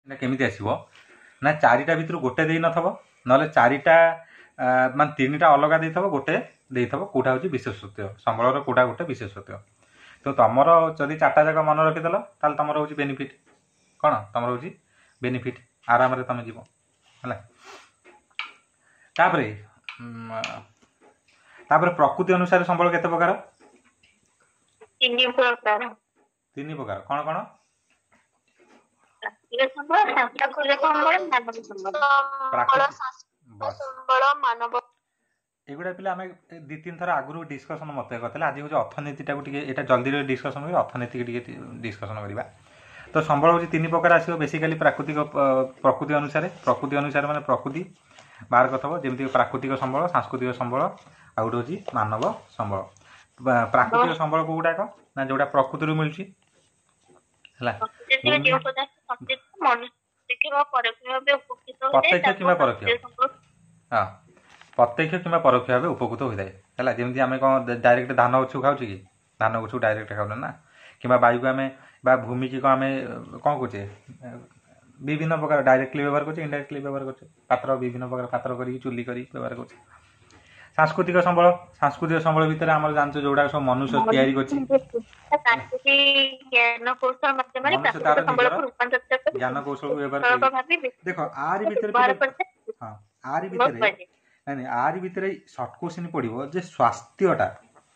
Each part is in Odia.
ଏଇଟା କେମିତି ଆସିବ ନା, ଚାରିଟା ଭିତରୁ ଗୋଟେ ଦେଇନଥିବ, ନହେଲେ ଚାରିଟା ମାନେ ତିନିଟା ଅଲଗା ଦେଇଥିବ, ଗୋଟେ ଦେଇଥିବ। କୋଉଟା ହେଉଛି ବିଶେଷତ୍ୱ ସମ୍ବଳର, କୋଉଟା ଗୋଟେ ବିଶେଷତ୍ୱ। ତ ତମର ଯଦି ଚାରିଟା ଯାକ ମନେ ରଖିଦେଲ, ତାହେଲେ ତମର ହେଉଛି ବେନିଫିଟ୍। କ'ଣ ତମର ହେଉଛି ବେନିଫିଟ୍? ଆରାମରେ ତମେ ଯିବ। ହେଲା, ତାପରେ ତାପରେ ପ୍ରକୃତି ଅନୁସାରେ ସମ୍ବଳ କେତେ ପ୍ରକାର? ତିନି ପ୍ରକାର। ତିନି ପ୍ରକାର। କ'ଣ କ'ଣ? ପ୍ରାକୃତିକ ସମ୍ବଳ, ସାଂସ୍କୃତିକ ସମ୍ବଳ, ମାନବ ସମ୍ବଳ। ପ୍ରାକୃତିକ ସମ୍ବଳ, ମାନବ। ଏଗୁଡ଼ା ପିଲା ଆମେ ଦୁଇ ତିନି ଥର ଆଗରୁ ଡିସ୍କସନ୍ ମୋତେ କରିଥିଲେ। ଆଜି ହେଉଛି ଅର୍ଥନୀତିଟାକୁ ଟିକେ ଏଇଟା ଜଲ୍ଦି ଡିସ୍କସନ୍ କରି ଅର୍ଥନୀତିକି ଟିକେ ଡିସ୍କସନ୍ କରିବା। ତ ସମ୍ବଳ ହେଉଛି ତିନି ପ୍ରକାର ଆସିବ ବେସିକାଲି ପ୍ରାକୃତିକ, ପ୍ରକୃତି ଅନୁସାରେ। ପ୍ରକୃତି ଅନୁସାରେ ମାନେ ପ୍ରକୃତି ବାହାର କରିଥିବ, ଯେମିତି ପ୍ରାକୃତିକ ସମ୍ବଳ, ସାଂସ୍କୃତିକ ସମ୍ବଳ, ଆଉ ଗୋଟେ ହେଉଛି ମାନବ ସମ୍ବଳ। ପ୍ରାକୃତିକ ସମ୍ବଳ କୋଉଗୁଡ଼ାକ ନା ଯୋଉଟା ପ୍ରକୃତିରୁ ମିଳୁଛି। ହେଲା, ପ୍ରତ୍ୟକ୍ଷ କିମ୍ବା ପରୋକ୍ଷ, ହଁ, ପ୍ରତ୍ୟକ୍ଷ କିମ୍ବା ପରୋକ୍ଷ ଭାବେ ଉପକୃତ ହୋଇଥାଏ। ହେଲା, ଯେମିତି ଆମେ କ'ଣ ଡାଇରେକ୍ଟ ଧାନ ଗଛକୁ ଖାଉଛେ କି? ଧାନ ଗଛକୁ ଡାଇରେକ୍ଟ ଖାଉନେ ନା। କିମ୍ବା ବାୟୁକୁ ଆମେ ବା ଭୂମିକି କ'ଣ ଆମେ କ'ଣ କରୁଛେ? ବିଭିନ୍ନ ପ୍ରକାର ଡାଇରେକ୍ଟଲି ବ୍ୟବହାର କରୁଛେ, ଇନଡାଇରେକ୍ଟଲି ବ୍ୟବହାର କରୁଛେ। ପାତ୍ର, ବିଭିନ୍ନ ପ୍ରକାର ପାତ୍ର କରିକି, ଚୁଲି କରିକି ବ୍ୟବହାର କରୁଛେ। ସାଂସ୍କୃତିକ ସମ୍ବଳ, ସାଂସ୍କୃତିକ ସମ୍ବଳ ଭିତରେ ଆମର ଜାଣିଛ ଯୋଉଗୁଡାକ ସବୁ ମନୁଷ୍ୟ ତିଆରି କରିଛି, ମନୁଷ୍ୟ ତାର ନିଜର ଜ୍ଞାନ କୌଶଳକୁ ବ୍ୟବହାର କରି। ଦେଖ, ଆରି ଭିତରେ, ହଁ, ଆରି ଭିତରେ, ନାଇଁ ନାଇଁ, ଆରି ଭିତରେ ସର୍ଟ କୋଶ୍ଚିନ୍ ପଡ଼ିବ ଯେ ସ୍ୱାସ୍ଥ୍ୟଟା,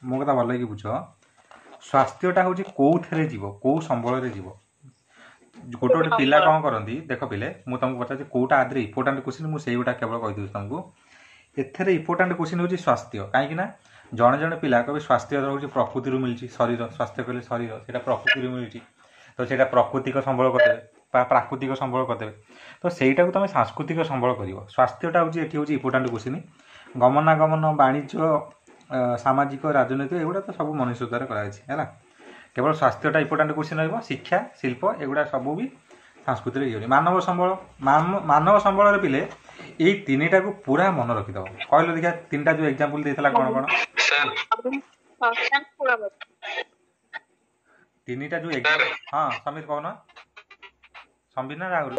ମୋ କଥା ଭଲ ହେଇକି ବୁଝ, ସ୍ୱାସ୍ଥ୍ୟଟା ହେଉଛି କୋଉଥିରେ ଯିବ, କୋଉ ସମ୍ବଳରେ ଯିବ? ଗୋଟେ ଗୋଟେ ପିଲା କ'ଣ କରନ୍ତି ଦେଖ ପିଲେ, ମୁଁ ତମକୁ ପଚାରୁଛି କୋଉଟା ଆଦିରେ ଇମ୍ପୋର୍ଟାଣ୍ଟ କୋଶ୍ଚିନ୍, ମୁଁ ସେଇଗୁଟା କେବଳ କହିଦେଉଛି ତମକୁ। ଏଥିରେ ଇମ୍ପୋର୍ଟାଣ୍ଟ କୋଶ୍ଚିନ୍ ହେଉଛି ସ୍ୱାସ୍ଥ୍ୟ। କାହିଁକି ନା ଜଣେ ଜଣେ ପିଲା କହିବେ ସ୍ୱାସ୍ଥ୍ୟ ହେଉଛି ପ୍ରକୃତିରୁ ମିଳୁଛି। ଶରୀର ସ୍ୱାସ୍ଥ୍ୟ କହିଲେ ଶରୀର, ସେଇଟା ପ୍ରକୃତିରୁ ମିଳୁଛି, ତ ସେଇଟା ପ୍ରାକୃତିକ ସମ୍ବଳ କରିଦେବେ ବା ପ୍ରାକୃତିକ ସମ୍ବଳ କରିଦେବେ। ତ ସେଇଟାକୁ ତମେ ସାଂସ୍କୃତିକ ସମ୍ବଳ କରିବ। ସ୍ୱାସ୍ଥ୍ୟଟା ହେଉଛି ଏଠି ହେଉଛି ଇମ୍ପୋର୍ଟାଣ୍ଟ କୋଶ୍ଚିନ୍। ଗମନାଗମନ, ବାଣିଜ୍ୟ, ସାମାଜିକ, ରାଜନୈତିକ, ଏଗୁଡ଼ା ତ ସବୁ ମନୁଷ୍ୟ ଦ୍ୱାରା କରାଯାଇଛି। ହେଲା, କେବଳ ସ୍ୱାସ୍ଥ୍ୟଟା ଇମ୍ପୋର୍ଟାଣ୍ଟ କୋଶ୍ଚିନ୍ ରହିବ। ଶିକ୍ଷା, ଶିଳ୍ପ, ଏଗୁଡ଼ା ସବୁ ବି ସାଂସ୍କୃତିକ ଇଏ। ମାନବ ସମ୍ବଳ, ମାନବ ସମ୍ବଳରେ ପିଲେ ଏଇ ତିନିଟାକୁ ପୁରା ମନେ ରଖିଦେବ। କହିଲ ଦେଖିଆ, ତିନିଟା ଯୋଉ ଏକ୍ଜାମ୍ପଲ ଦେଇଥିଲା କ'ଣ କ'ଣ ତିନିଟା ଯୋଉ? ହଁ ସମୀର, କହୁନ। ସମ୍ବିତ ନା ରାହୁଲ?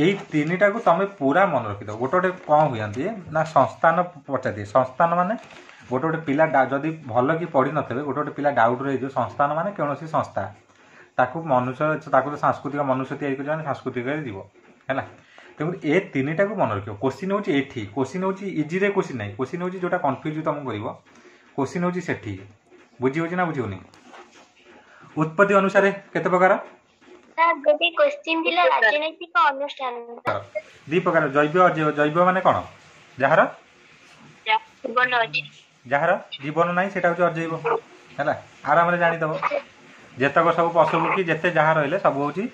ଏଇ ତିନିଟାକୁ ତମେ ପୁରା ମନେ ରଖିଦେବ। ଗୋଟେ ଗୋଟେ କ'ଣ ହୁଅନ୍ତି ନା ସଂସ୍ଥାନ ପଚାରିଦିଏ। ସଂସ୍ଥାନ ମାନେ ଗୋଟେ ଗୋଟେ ପିଲା ଯଦି ଭଲ କି ପଢ଼ିନଥିବେ, ଗୋଟେ ଗୋଟେ ପିଲା ଡାଉଟ୍ ରହିଯିବ। ସଂସ୍ଥାନ ମାନେ କୌଣସି ସଂସ୍ଥା, ତାକୁ ମନୁଷ୍ୟ, ତାକୁ ତ ସାଂସ୍କୃତିକ ମନୁଷ୍ୟ ତିଆରି କରିଛି, ମାନେ ସାଂସ୍କୃତିକରେ ଯିବ। ହେଲା, ତେଣୁ ଏ ତିନିଟାକୁ ମନେ ରଖିବ। କୋଶ୍ଚିନ୍ ହେଉଛି ଏଠି, କୋଶ୍ଚିନ୍ ହେଉଛି ଇଜିରେ କୋଶ୍ଚିନ୍ ନାହିଁ, କୋଶ୍ଚିନ୍ ହେଉଛି ଯୋଉଟା କନଫ୍ୟୁଜ୍ ତମକୁ କରିବ, କୋଶ୍ଚିନ୍ ହେଉଛି ସେଠି। ବୁଝି ହେଉଛି ନା ବୁଝି ହେଉନି? ଉତ୍ପତ୍ତି ଅନୁସାରେ କେତେ ପ୍ରକାର? ଗୋଟେ କୋଶ୍ଚିନ୍ ଥିଲା ରାଜନୈତିକ ଅନୁଷ୍ଠାନ। ଦି ପ୍ରକାର, ଜୈବ, ଅଜୈବ। ଜୈବ ମାନେ କ'ଣ? ଯାହାର ଜୀବନ ଅଛି। ଯାହାର ଜୀବନ ନାହିଁ ସେଇଟା ହେଉଛି ଅଜୈବ। ହେଲା, ଆରାମରେ ଜାଣିଦେବ। ଯେତକ ସବୁ ପଶୁ ପକ୍ଷୀ ଯେତେ ଯାହା ରହିଲେ ସବୁ ହେଉଛି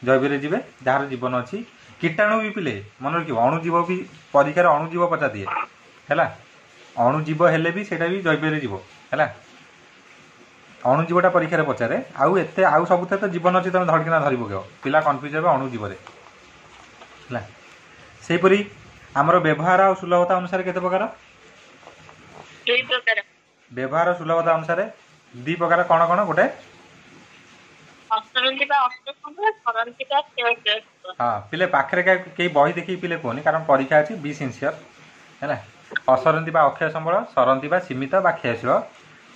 ଜୈବରେ ଯିବେ, ଯାହାର ଜୀବନ ଅଛି। କୀଟାଣୁ ବି ପିଲେ ମନେ ରଖିବ, ଅଣୁଜୀବ ବି ପରୀକ୍ଷାରେ ଅଣୁଜୀବ ପଚାରିଦିଏ। ହେଲା, ଅଣୁଜୀବ ହେଲେ ବି ସେଇଟା ବି ଜୈବରେ ଯିବ। ହେଲା, ଅଣୁଜୀବଟା ପରୀକ୍ଷାରେ ପଚାରେ। ଆଉ ଏତେ ଆଉ ସବୁଥିରେ ତ ଜୀବନ ଅଛି, ତମେ ଧରିକିନା ଧରି ପକେଇବ। ପିଲା କନଫ୍ୟୁଜ୍ ହେବେ ଅଣୁଜୀବରେ। ହେଲା, ସେହିପରି ଆମର ବ୍ୟବହାର ଆଉ ସୁଲଭତା ଅନୁସାରେ କେତେ ପ୍ରକାର? ଦୁଇ ପ୍ରକାର। ବ୍ୟବହାର ସୁଲଭତା ଅନୁସାରେ ଦି ପ୍ରକାର। କ'ଣ କ'ଣ? ଗୋଟେ ଅସରନ୍ତି ବା ଅଷ୍ଟ ସମ୍ବଳ, ସରନ୍ତି ବା କ୍ଷୟଶୀଳ। ହଁ ପିଲେ, ପାଖରେ କେହି ବହି ଦେଖିକି ପିଲେ କୁହନି, କାରଣ ପରୀକ୍ଷା ଅଛି, ବି ସିନସିୟର। ହେଲା, ଅସରନ୍ତି ବା ଅକ୍ଷୟ ସମ୍ବଳ, ସରନ୍ତି ବା ସୀମିତ ବା କ୍ଷୟଶୀଳ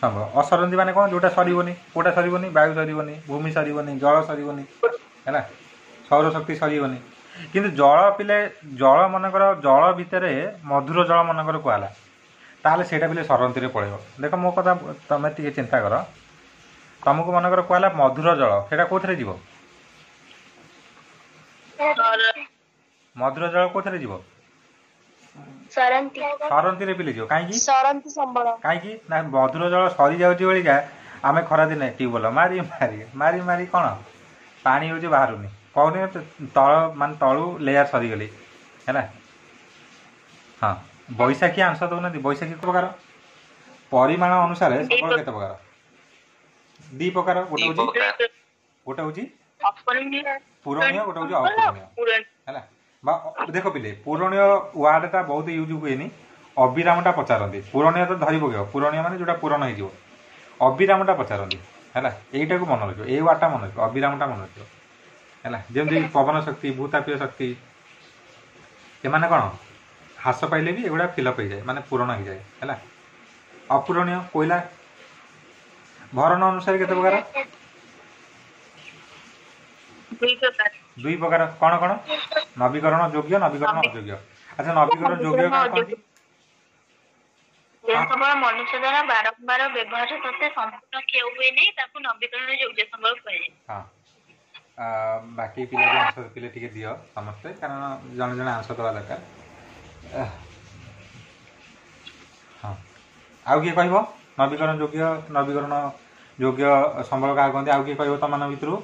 ସମ୍ବଳ। ଅସରନ୍ତି ମାନେ କ'ଣ? ଯୋଉଟା ସରିବନି। କୋଉଟା ସରିବନି? ବାୟୁ ସରିବନି, ଭୂମି ସରିବନି, ଜଳ ସରିବନି, ହେଲା, ସୌରଶକ୍ତି ସରିବନି। କିନ୍ତୁ ଜଳ ପିଲେ, ଜଳ ମନେକର ଜଳ ଭିତରେ ମଧୁର ଜଳ ମନେକର କୁହାହେଲା, ତାହେଲେ ସେଇଟା ପିଲେ ସରନ୍ତିରେ ପଳେଇବ। ଦେଖ, ମୋ କଥା ତମେ ଟିକେ ଚିନ୍ତା କର। ତମକୁ ମନେକର କୁହାହେଲା ମଧୁର ଜଳ, ସେଇଟା କୋଉଥିରେ ଯିବ? ମଧୁର ଜଳ କୋଉଥିରେ ଯିବ? ସରନ୍ତି। ସରନ୍ତିରେ ପିଲେ ଯିବ। କାହିଁକି ସରନ୍ତି ସମ୍ବଳ? କାହିଁକି ନା ମଧୁର ଜଳ ସରିଯାଉଛି ବଳିକା ଆମେ ଖରାଦିନେ ଟ୍ୟୁବୱେଲ ମାରି ମାରି ମାରି ମାରି କ'ଣ ପାଣି ହେଉଛି ବାହାରୁନି କହୁନି, ତଳ ମାନେ ତଳୁ ଲେୟାର ସରିଗଲି। ହେଲା, ହଁ, ବୈଶାଖୀ ଆନ୍ସର ଦଉନାହାନ୍ତି। ବୈଶାଖୀ ପ୍ରକାର? ପରିମାଣ ଅନୁସାରେ ସମ୍ବଳ କେତେ ପ୍ରକାର? ଦି ପ୍ରକାର। ଗୋଟେ ହେଉଛି, ଗୋଟେ ହେଉଛି ପୂରଣୀୟ, ଗୋଟେ ହେଉଛି ଅପୂରଣୀୟ। ହେଲା, ବା ଦେଖ ପିଲେ, ପୂରଣୀୟ ୱାର୍ଡଟା ବହୁତ ୟୁଜ୍ ହୁଏନି, ଅବିରାମଟା ପଚାରନ୍ତି। ପୂରଣୀୟ ତ ଧରି ପକେଇବ, ପୂରଣୀୟ ମାନେ ଯୋଉଟା ପୂରଣ ହେଇଯିବ। ଅବିରାମଟା ପଚାରନ୍ତି। ହେଲା, ଏଇଟାକୁ ମନେ ରଖିବ, ଏଇ ୱାର୍ଡଟା ମନେ ରଖିବ, ଅବିରାମଟା ମନେ ରଖିବ। ହେଲା। ଯେମିତି ପବନ ଶକ୍ତି, ଭୂତାପୀୟ ଶକ୍ତି, ଏମାନେ କ'ଣ ହ୍ରାସ ପାଇଲେ ବି ଏଗୁଡ଼ା ଫିଲଅପ୍ ହେଇଯାଏ, ମାନେ ପୂରଣ ହେଇଯାଏ, ହେଲା। ଅପୂରଣୀୟ କୋଇଲା। ଭରଣ ଅନୁସାରେ କେତେ ପ୍ରକାର? ଦୁଇ ପ୍ରକାର। ଦୁଇ ପ୍ରକାର। କ'ଣ କ'ଣ? ନବୀକରଣ ଯୋଗ୍ୟ, ନବୀକରଣ ଅଯୋଗ୍ୟ। ଆଚ୍ଛା, ନବୀକରଣ ଯୋଗ୍ୟ ନବୀକରଣ କାହାକୁ ଅଯୋଗ୍ୟ। କହନ୍ତି? ଯେଉଁ ସମ୍ବଳ ମନୁଷ୍ୟ ଦ୍ୱାରା ବାରମ୍ବାର ବ୍ୟବହାର ସତ୍ତ୍ୱେ ସମ୍ପୂର୍ଣ୍ଣ କ୍ଷୟ ହୁଏ ନାହିଁ, ତାକୁ ନବୀକରଣ ଯୋଗ୍ୟ ସମ୍ବଳ କୁହାଯାଏ। ହଁ, ବାକି ପିଲା ବି ଆନ୍ସର ପିଲେ ଟିକେ ଦିଅ ସମସ୍ତେ, କାରଣ ଜଣେ ଜଣେ ଆନ୍ସର ଦେବା ଦରକାର। ହଁ, ଆଉ କିଏ କହିବ? ନବୀକରଣ ଯୋଗ୍ୟ, ନବୀକରଣ ଯୋଗ୍ୟ ସମ୍ବଳ କାହାକୁ କହନ୍ତି? ଆଉ କିଏ କହିବ ତମମାନଙ୍କ ଭିତରୁ?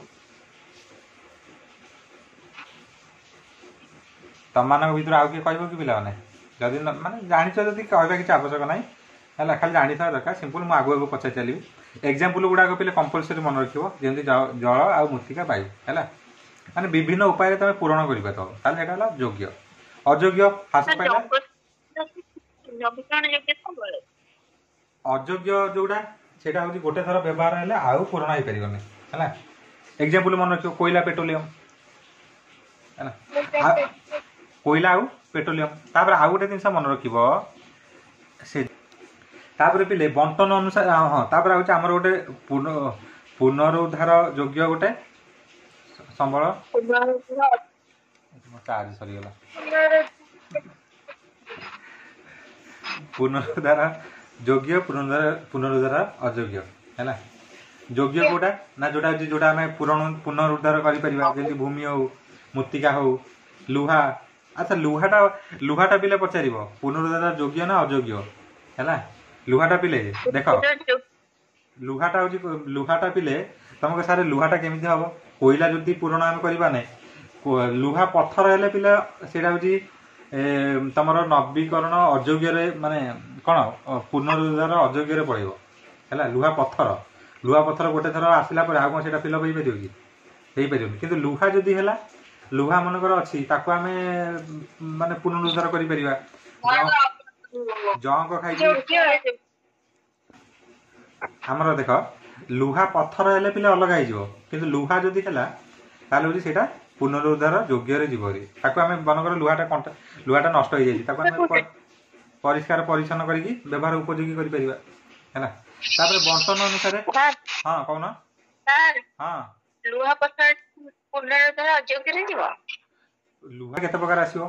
ତମମାନଙ୍କ ଭିତରୁ ଆଉ କିଏ କହିବ କି ପିଲାମାନେ? ଯଦି ମାନେ ଜାଣିଛ ଯଦି କହିବା କିଛି ଆବଶ୍ୟକ ନାହିଁ, ହେଲା, ଖାଲି ଜାଣିଥିବା ଦରକାର। ସିମ୍ପଲ୍, ମୁଁ ଆଗକୁ ଆଗକୁ ପଚାରି ଚାଲିବି। ଏକ୍ଜାମ୍ପଲ୍ ଗୁଡ଼ାକ ପିଲେ କମ୍ପଲସରି ମନେ ରଖିବ, ଯେମିତି ଜଳ ଆଉ ମୃତ୍ତିକା, ବାୟୁ, ହେଲା। ମାନେ ବିଭିନ୍ନ ଉପାୟରେ ତମେ ପୂରଣ କରିପାରିବ, ତାହେଲେ ସେଇଟା ହେଲା ଯୋଗ୍ୟ। ଅଯୋଗ୍ୟ ହ୍ରାସ ସାର୍, ପାଇଲା। ନବୀକରଣ ଯୋଗ୍ୟ ସମ୍ବଳ। ଅଯୋଗ୍ୟ ଯୋଉଟା, ସେଇଟା ହଉଛି ଗୋଟେ ଥର ବ୍ୟବହାର ହେଲେ ଆଉ ପୂରଣ ହେଇପାରିବନି, ହେଲା। ଏକ୍ଜାମ୍ପଲ୍ ମନେ ରଖିବ କୋଇଲା, ପେଟ୍ରୋଲିୟମ, ହେଲା। ଆଉ କୋଇଲା ଆଉ ପେଟ୍ରୋଲିୟମ। ତାପରେ ଆଉ ଗୋଟେ ଜିନିଷ ମନେ ରଖିବ ସେ, ତାପରେ ପିଲେ ବଣ୍ଟନ ଅନୁସାରେ, ହଁ, ତାପରେ ହଉଛି ଆମର ଗୋଟେ ପୁନରୁଦ୍ଧାର ଯୋଗ୍ୟ ଗୋଟେ ସମ୍ବଳ। ଚାର୍ଜ ସରିଗଲା। ପୁନରୁଦ୍ଧାର ଯୋଗ୍ୟ, ପୁନରୁଦ୍ଧାର ଅଯୋଗ୍ୟ, ହେଲା। ଯୋଗ୍ୟ କୋଉଟା ନା ଯୋଉଟା ହଉଛି ଯୋଉଟା ଆମେ ପୁନରୁଦ୍ଧାର କରିପାରିବା, ଯେମିତି ଭୂମି ହଉ, ମୃତ୍ତିକା ହଉ, ଲୁହା। ଆଚ୍ଛା, ଲୁହାଟା ପିଲେ ପଚାରିବ ପୁନରୁଦ୍ଧାର ଯୋଗ୍ୟ ନା ଅଯୋଗ୍ୟ, ହେଲା। ଲୁହାଟା ପିଲେ ଦେଖ, ଲୁହାଟା ହଉଛି, ଲୁହାଟା ପିଲେ ତମକୁ ସାର୍ ଲୁହାଟା କେମିତି ହବ? କୋଇଲା ଯଦି ପୂରଣ ଆମେ କରିବା ନାହିଁ, ଲୁହା ପଥର ହେଲେ ପିଲା ସେଇଟା ହଉଛି ତମର ନବୀକରଣ ଅଯୋଗ୍ୟରେ, ମାନେ କ'ଣ ପୁନରୁଦ୍ଧାର ଅଯୋଗ୍ୟରେ ପଳେଇବ, ହେଲା। ଲୁହା ପଥର, ଲୁହା ପଥର ଗୋଟେ ଥର ଆସିଲା ପରେ ଆଉ କ'ଣ ସେଇଟା ଫିଲଅପ୍ ହେଇପାରିବ କି? ହେଇପାରିବନି। କିନ୍ତୁ ଲୁହା ଯଦି ହେଲା, ଲୁହା ମନେକର ଅଛି, ତାକୁ ଆମେ ମାନେ ପୁନରୁଦ୍ଧାର କରିପାରିବା। ଜଙ୍କ ଖାଇକି ଆମର ଦେଖ, ଲୁହା ପଥର ହେଲେ ପିଲା ଅଲଗା ହେଇଯିବ, କିନ୍ତୁ ଲୁହା ଯଦି ହେଲା ତାହେଲେ ହଉଛି ସେଇଟା ପୁନରୁଦ୍ଧାର ଯୋଗ୍ୟରେ ଯିବ। ତାକୁ ଆମେ ମନେକର ଲୁହାଟା କଣ୍ଟା, ଲୁହାଟା ନଷ୍ଟ ହେଇଯାଇଛି, ତାକୁ ଆମେ ପରିଷ୍କାର ପରିଚ୍ଛନ୍ନ କରିକି ବ୍ୟବହାର ଉପଯୋଗୀ କରିପାରିବା, ହେଲା। ତାପରେ ବଣ୍ଟନ ଅନୁସାରେ, ହଁ କହୁନ। ହଁ, ଲୁହା ପଥର ପୁନରୁଦ୍ଧାର ଅଯୋଗ୍ୟରେ ଯିବ। ଲୁହା କେତେ ପ୍ରକାର ଆସିବ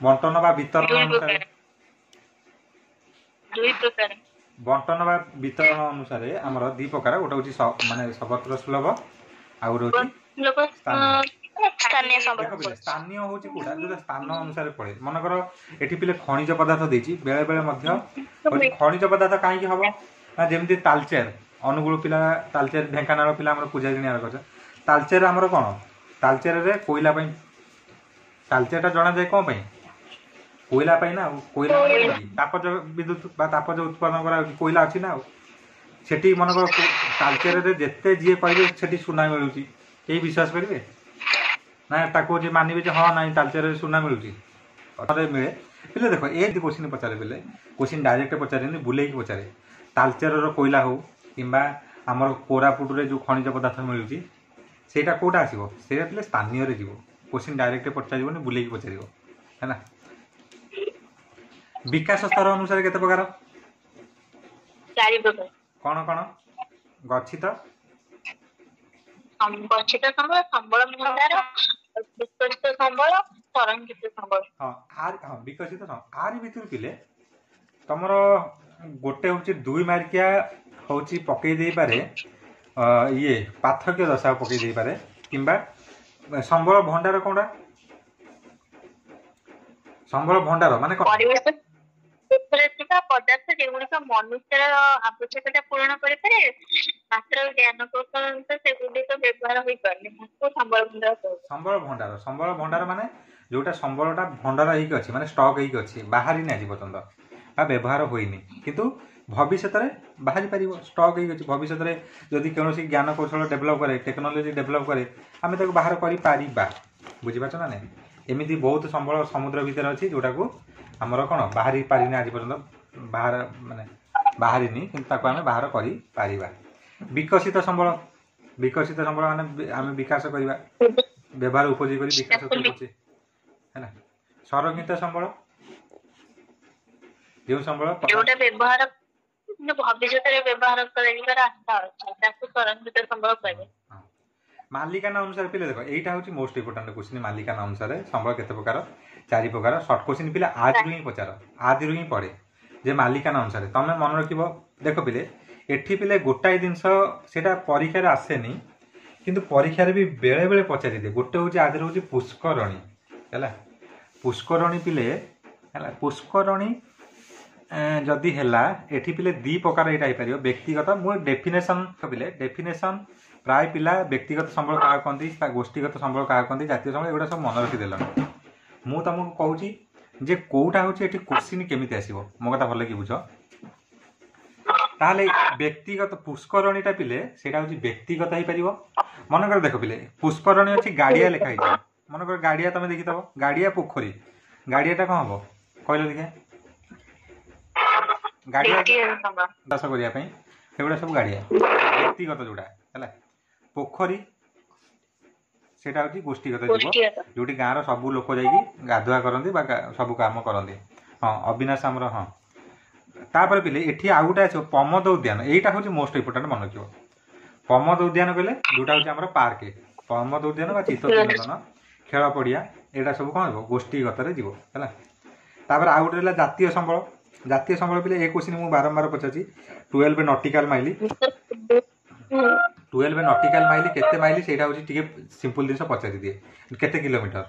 ବଣ୍ଟନ ବା ବିତରଣ ଦୁଇ ଅନୁସାରେ? ପ୍ରକାର। ଦୁଇ ପ୍ରକାର। ବଣ୍ଟନ ବା ବିତରଣ ଅନୁସାରେ ଆମର ଦି ପ୍ରକାର, ଗୋଟେ ହଉଛି ମାନେ ସର୍ବତ୍ର ସୁଲଭ, ଆଉ ଗୋଟେ ହଉଛି ସ୍ଥାନୀୟ। ସ୍ଥାନୀୟ ସମ୍ବଳ। ଦେଖ ପିଲେ, ସ୍ଥାନୀୟ ହଉଛି କୋଉଟା? ଯୋଉଟା ସ୍ଥାନ ଅନୁସାରେ ପଡେ। ମନେକର ଏଠି ପିଲେ ଖଣିଜ ପଦାର୍ଥ ଦେଇଛି, ବେଳେ ବେଳେ ମଧ୍ୟ ହଉଛି ଖଣିଜ ପଦାର୍ଥ କାହିଁକି ହବ ନା, ଯେମିତି ତାଲଚେର, ଅନୁଗୁଳ ପିଲା ତାଲଚେର, ଢେଙ୍କାନାଳ ପିଲା ଆମର ପୂଜା ଜିନିଆ କରିଛ। ତାଲଚେର ଆମର କ'ଣ? ତାଲଚେରରେ କୋଇଲା ପାଇଁ ତାଲଚେରଟା ଜଣାଯାଏ। କ'ଣ ପାଇଁ? କୋଇଲା ପାଇଁ ନା। ଆଉ କୋଇଲା ମାନେ କଣ କି? ତାପଜ ବିଦ୍ୟୁତ ବା ତାପଜ ଉତ୍ପାଦନ କରାଯାଉଛି, କୋଇଲା ଅଛି ନା। ଆଉ ସେଠି ମନେକର ତାଲଚେରରେ ଯେତେ ଯିଏ କହିବେ ସେଠି ସୁନା ମିଳୁଛି, କେହି ବିଶ୍ୱାସ କରିବେ ନା? ତାକୁ ଯିଏ ମାନିବେ ଯେ ହଁ ନାଇଁ ତାଲଚେରରେ ସୁନା ମିଳୁଛି, ମିଳେ। ପିଲେ ଦେଖ, ଏ କୋଶ୍ଚିନ୍ ପଚାରେ ପିଲେ, କୋଶ୍ଚିନ୍ ଡାଇରେକ୍ଟ ପଚାରେନି, ବୁଲେଇକି ପଚାରେ। ତାଲଚେରର କୋଇଲା ହଉ କିମ୍ବା ଆମର କୋରାପୁଟରେ ଯୋଉ ଖଣିଜ ପଦାର୍ଥ ମିଳୁଛି, ସେଇଟା କୋଉଟା ଆସିବ? ସେଇଟା ପିଲେ ସ୍ଥାନୀୟରେ ଯିବ। କୋଶ୍ଚିନ୍ ଡାଇରେକ୍ଟ ପଚାରିବନି, ବୁଲେଇକି ପଚାରିବ, ହେଲା। ବିକାଶ ସ୍ତର ଅନୁସାରେ କେତେ ପ୍ରକାର? ଚାରି ପ୍ରକାର। କ'ଣ କ'ଣ? ଗଚ୍ଛିତ, ଗଚ୍ଛିତ ସମ୍ବଳ, ସମ୍ବଳ ଭଣ୍ଡାର, ବିକଶିତ ସମ୍ବଳ, ସଂରକ୍ଷିତ ସମ୍ବଳ। ହଁ, ଆରି, ହଁ, ବିକଶିତ। ଆରି ଭିତରୁ ପିଲେ ତମର ଗୋଟେ ହଉଛି 2 ମାର୍କିଆ ହଉଛି ପକେଇ ଦେଇପାରେ, ଇଏ ପାର୍ଥକ୍ୟ ଦଶା ପକେଇ ଦେଇପାରେ, କିମ୍ବା ସମ୍ବଳ ଭଣ୍ଡାର କୋଉଟା? ସମ୍ବଳ ଭଣ୍ଡାର ମାନେ କଣ? ପରିବେଶ ଥିବା ପଦାର୍ଥ ଯେଗୁଡିକ ମନୁଷ୍ୟର ଆବଶ୍ୟକତା ପୂରଣ କରିପାରେ, ମାତ୍ର ଜ୍ଞାନ କୌଶଳ ସେଗୁଡିକ ବ୍ୟବହାର ହୋଇପାରୁନି, ତାକୁ ସମ୍ବଳ ଭଣ୍ଡାର କୁହାଯାଏ। ସମ୍ବଳ ଭଣ୍ଡାର, ସମ୍ବଳ ଭଣ୍ଡାର ମାନେ ଯୋଉଟା ସମ୍ବଳଟା ଭଣ୍ଡାର ହେଇକି ଅଛି, ମାନେ ଷ୍ଟକ୍ ହେଇକି ଅଛି, ବାହାରିନି ଆଜି ପର୍ଯ୍ୟନ୍ତ ବା ବ୍ୟବହାର ହୋଇନି, କିନ୍ତୁ ଭବିଷ୍ୟତରେ ବାହାରି ପାରିବ। ଷ୍ଟକ୍ ହେଇକି ଅଛି, ଭବିଷ୍ୟତରେ ଯଦି କୌଣସି ଜ୍ଞାନ କୌଶଳ ଡେଭଲପ୍ କରେ, ଟେକ୍ନୋଲୋଜି ଡେଭଲପ୍ କରେ, ଆମେ ତାକୁ ବାହାର କରିପାରିବା। ବୁଝିପାରୁଛ ନା ନାଇଁ? ଏମିତି ବହୁତ ସମ୍ବଳ ସମୁଦ୍ର ଭିତରେ ଅଛି ଯୋଉଟାକୁ ଆମର କ'ଣ ବାହାରି ପାରିନି ଆଜି ପର୍ଯ୍ୟନ୍ତ, ବାହାର ମାନେ ବାହାରିନି, କିନ୍ତୁ ତାକୁ ଆମେ ବାହାର କରିପାରିବା। ବିକଶିତ ସମ୍ବଳ, ବିକଶିତ ସମ୍ବଳ ମାନେ ଆମେ ବିକାଶ କରିବା। ବ୍ୟବହାର ଉପଯୋଗୀ କରି ବିକାଶ କରୁଛି ହେଲା। ସଂରକ୍ଷିତ ସମ୍ବଳ, ଯେଉଁ ସମ୍ବଳ ଯୋଉଟା ବ୍ୟବହାର ଭବିଷ୍ୟତରେ ବ୍ୟବହାର କରାଯିବାର ଆଶା ଅଛି ତାକୁ ସଂରକ୍ଷିତ ସମ୍ବଳ କୁହାଯାଏ। ମାଲିକାନା ଅନୁସାରେ ପିଲେ ଦେଖ, ଏଇଟା ହେଉଛି ମୋଷ୍ଟ ଇମ୍ପୋର୍ଟାଣ୍ଟ କ୍ୱେଶ୍ଚିନ୍। ମାଲିକାନା ଅନୁସାରେ ସମ୍ବଳ କେତେ ପ୍ରକାର? 4 ପ୍ରକାର। ସର୍ଟ କ୍ୱେଶ୍ଚିନ୍ ପିଲା ଆଜିରୁ ହିଁ ପଚାର, ଆଜିରୁ ହିଁ ପଡ଼େ ଯେ ମାଲିକାନା ଅନୁସାରେ ତମେ ମନେ ରଖିବ। ଦେଖ ପିଲେ, ଏଠି ପିଲେ ଗୋଟାଏ ଜିନିଷ ସେଇଟା ପରୀକ୍ଷାରେ ଆସେନି, କିନ୍ତୁ ପରୀକ୍ଷାରେ ବି ବେଳେବେଳେ ପଚାରିଦିଏ। ଗୋଟେ ହେଉଛି ଆଜିର ହେଉଛି ପୁଷ୍କରଣୀ ହେଲା। ପୁଷ୍କରଣୀ ପିଲେ ହେଲା, ପୁଷ୍କରଣୀ ଯଦି ହେଲା ଏଠି ପିଲେ 2 ପ୍ରକାର ଏଇଟା ହେଇପାରିବ। ବ୍ୟକ୍ତିଗତ, ମୁଁ ଡେଫିନେସନ୍ ପିଲେ ଡେଫିନେସନ୍ ପ୍ରାୟ ପିଲା ବ୍ୟକ୍ତିଗତ ସମ୍ବଳ କାହା କହନ୍ତି, ତା ଗୋଷ୍ଠୀଗତ ସମ୍ବଳ କାହା କହନ୍ତି, ଜାତୀୟ ସମ୍ବଳ, ଏଗୁଡ଼ା ସବୁ ମନେ ରଖିଦେଲଣି। ମୁଁ ତମକୁ କହୁଛି ଯେ କୋଉଟା ହେଉଛି ଏଠି କୋଶ୍ଚିନ୍ କେମିତି ଆସିବ, ମୋ କଥା ଭଲ କି ବୁଝ। ତାହେଲେ ବ୍ୟକ୍ତିଗତ ପୁଷ୍କରଣୀଟା ପିଲେ ସେଇଟା ହେଉଛି ବ୍ୟକ୍ତିଗତ ହେଇପାରିବ। ମନେକର ଦେଖ ପିଲେ ପୁଷ୍କରଣୀ ଅଛି, ଗାଡ଼ିଆ ଲେଖା ହେଇଛି। ମନେକର ଗାଡ଼ିଆ ତମେ ଦେଖିଥବ, ଗାଡ଼ିଆ ପୋଖରୀ, ଗାଡ଼ିଆଟା କ'ଣ ହବ କହିଲ ଦେଖିଆ? ଗାଡ଼ିଆ ଚାଷ କରିବା ପାଇଁ ସେଗୁଡ଼ା ସବୁ ଗାଡ଼ିଆ, ବ୍ୟକ୍ତିଗତ ଯୋଉଟା ହେଲା। ପୋଖରୀ ସେଇଟା ହେଉଛି ଗୋଷ୍ଠୀଗତ ଯିବ, ଯୋଉଠି ଗାଁର ସବୁ ଲୋକ ଯାଇକି ଗାଧୁଆ କରନ୍ତି ବା ସବୁ କାମ କରନ୍ତି। ହଁ ଅବିନାଶ ଆମର, ହଁ। ତାପରେ ପିଲେ ଏଠି ଆଉ ଗୋଟେ ଆସିବ ପ୍ରମୋଦ ଉଦ୍ୟାନ, ଏଇଟା ହେଉଛି ମୋଷ୍ଟ ଇମ୍ପୋର୍ଟାଣ୍ଟ ମନେ ରଖିବ। ପ୍ରମୋଦ ଉଦ୍ୟାନ କହିଲେ ଯୋଉଟା ହେଉଛି ଆମର ପାର୍କ, ପ୍ରମୋଦ ଉଦ୍ୟାନ ବା ଚିତ୍ତ ବିନୋଦନ, ଖେଳ ପଡ଼ିଆ, ଏଇଟା ସବୁ କ'ଣ ହେବ ଗୋଷ୍ଠୀଗତରେ ଯିବ ହେଲା। ତାପରେ ଆଉ ଗୋଟେ ହେଲା ଜାତୀୟ ସମ୍ବଳ। ଜାତୀୟ ସମ୍ବଳ ପିଲେ ଏ କ୍ୱେଶ୍ଚିନ୍ ମୁଁ ବାରମ୍ବାର ପଚାରୁଛି। 12 ନଟିକାଲ ମାଇଲି, 12 ନଟିକାଲ ମାଇଲି କେତେ ମାଇଲି ସେଇଟା ହେଉଛି ଟିକେ ସିମ୍ପଲ ଜିନିଷ ପଚାରିଦିଏ, କେତେ କିଲୋମିଟର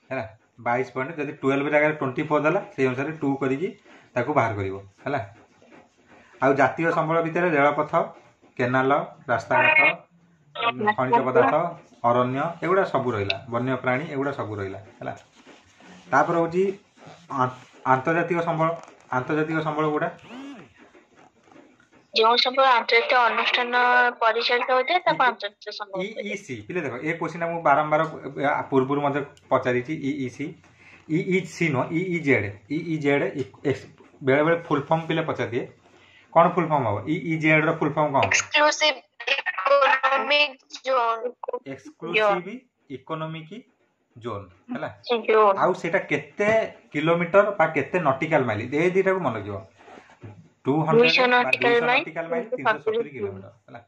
ହେଲା? 22 ପଏଣ୍ଟ। ଯଦି 12 ଜାଗାରେ 24 ଦେଲା ସେଇ ଅନୁସାରେ 2 କରିକି ତାକୁ ବାହାର କରିବ ହେଲା। ଆଉ ଜାତୀୟ ସମ୍ବଳ ଭିତରେ ରେଳପଥ, କେନାଲ, ରାସ୍ତାଘାଟ, ଖଣିଜ ପଦାର୍ଥ, ଅରଣ୍ୟ, ଏଗୁଡ଼ା ସବୁ ରହିଲା, ବନ୍ୟ ପ୍ରାଣୀ, ଏଗୁଡ଼ା ସବୁ ରହିଲା ହେଲା। ତାପରେ ହେଉଛି ଆନ୍ତର୍ଜାତିକ ସମ୍ବଳ। ଆନ୍ତର୍ଜାତିକ ସମ୍ବଳ ଗୁଡ଼ା ଯେଉଁ ସମ୍ବଳ ଆନ୍ତର୍ଜାତିକ ଅନୁଷ୍ଠାନ ପରିଚାଳିତ ହୋଇଥାଏ ତାକୁ ଆନ୍ତର୍ଜାତିକ ସମ୍ବଳ। ଇଇସି ପିଲେ ଦେଖ, ଏ କ୍ୱେଶ୍ଚିନ୍ଟା ମୁଁ ବାରମ୍ବାର ପୂର୍ବରୁ ମଧ୍ୟ ପଚାରିଛି। ଇଇସି, ଇଇସି ନୁହଁ, ଇଇଜେଡ୍, ଇଇଜେଡ୍ ବେଳେବେଳେ ଫୁଲ୍ ଫର୍ମ ପିଲେ ପଚାରିଦିଏ। କ'ଣ ଫୁଲ୍ ଫର୍ମ ହବ? ଇଇଜେଡ୍ ର ଫୁଲ୍ ଫର୍ମ କ'ଣ? Exclusive economic zone. Exclusive economic zone ହେଲା। ଆଉ ସେଇଟା କେତେ କିଲୋମିଟର ବା କେତେ ନଟିକାଲ ମାଇଲ, ଏ ଦୁଇଟାକୁ ମନେ ରଖିବ। 200 ନଟିକାଲ ମାଇଲ, 370 କିଲୋମିଟର ହେଲା।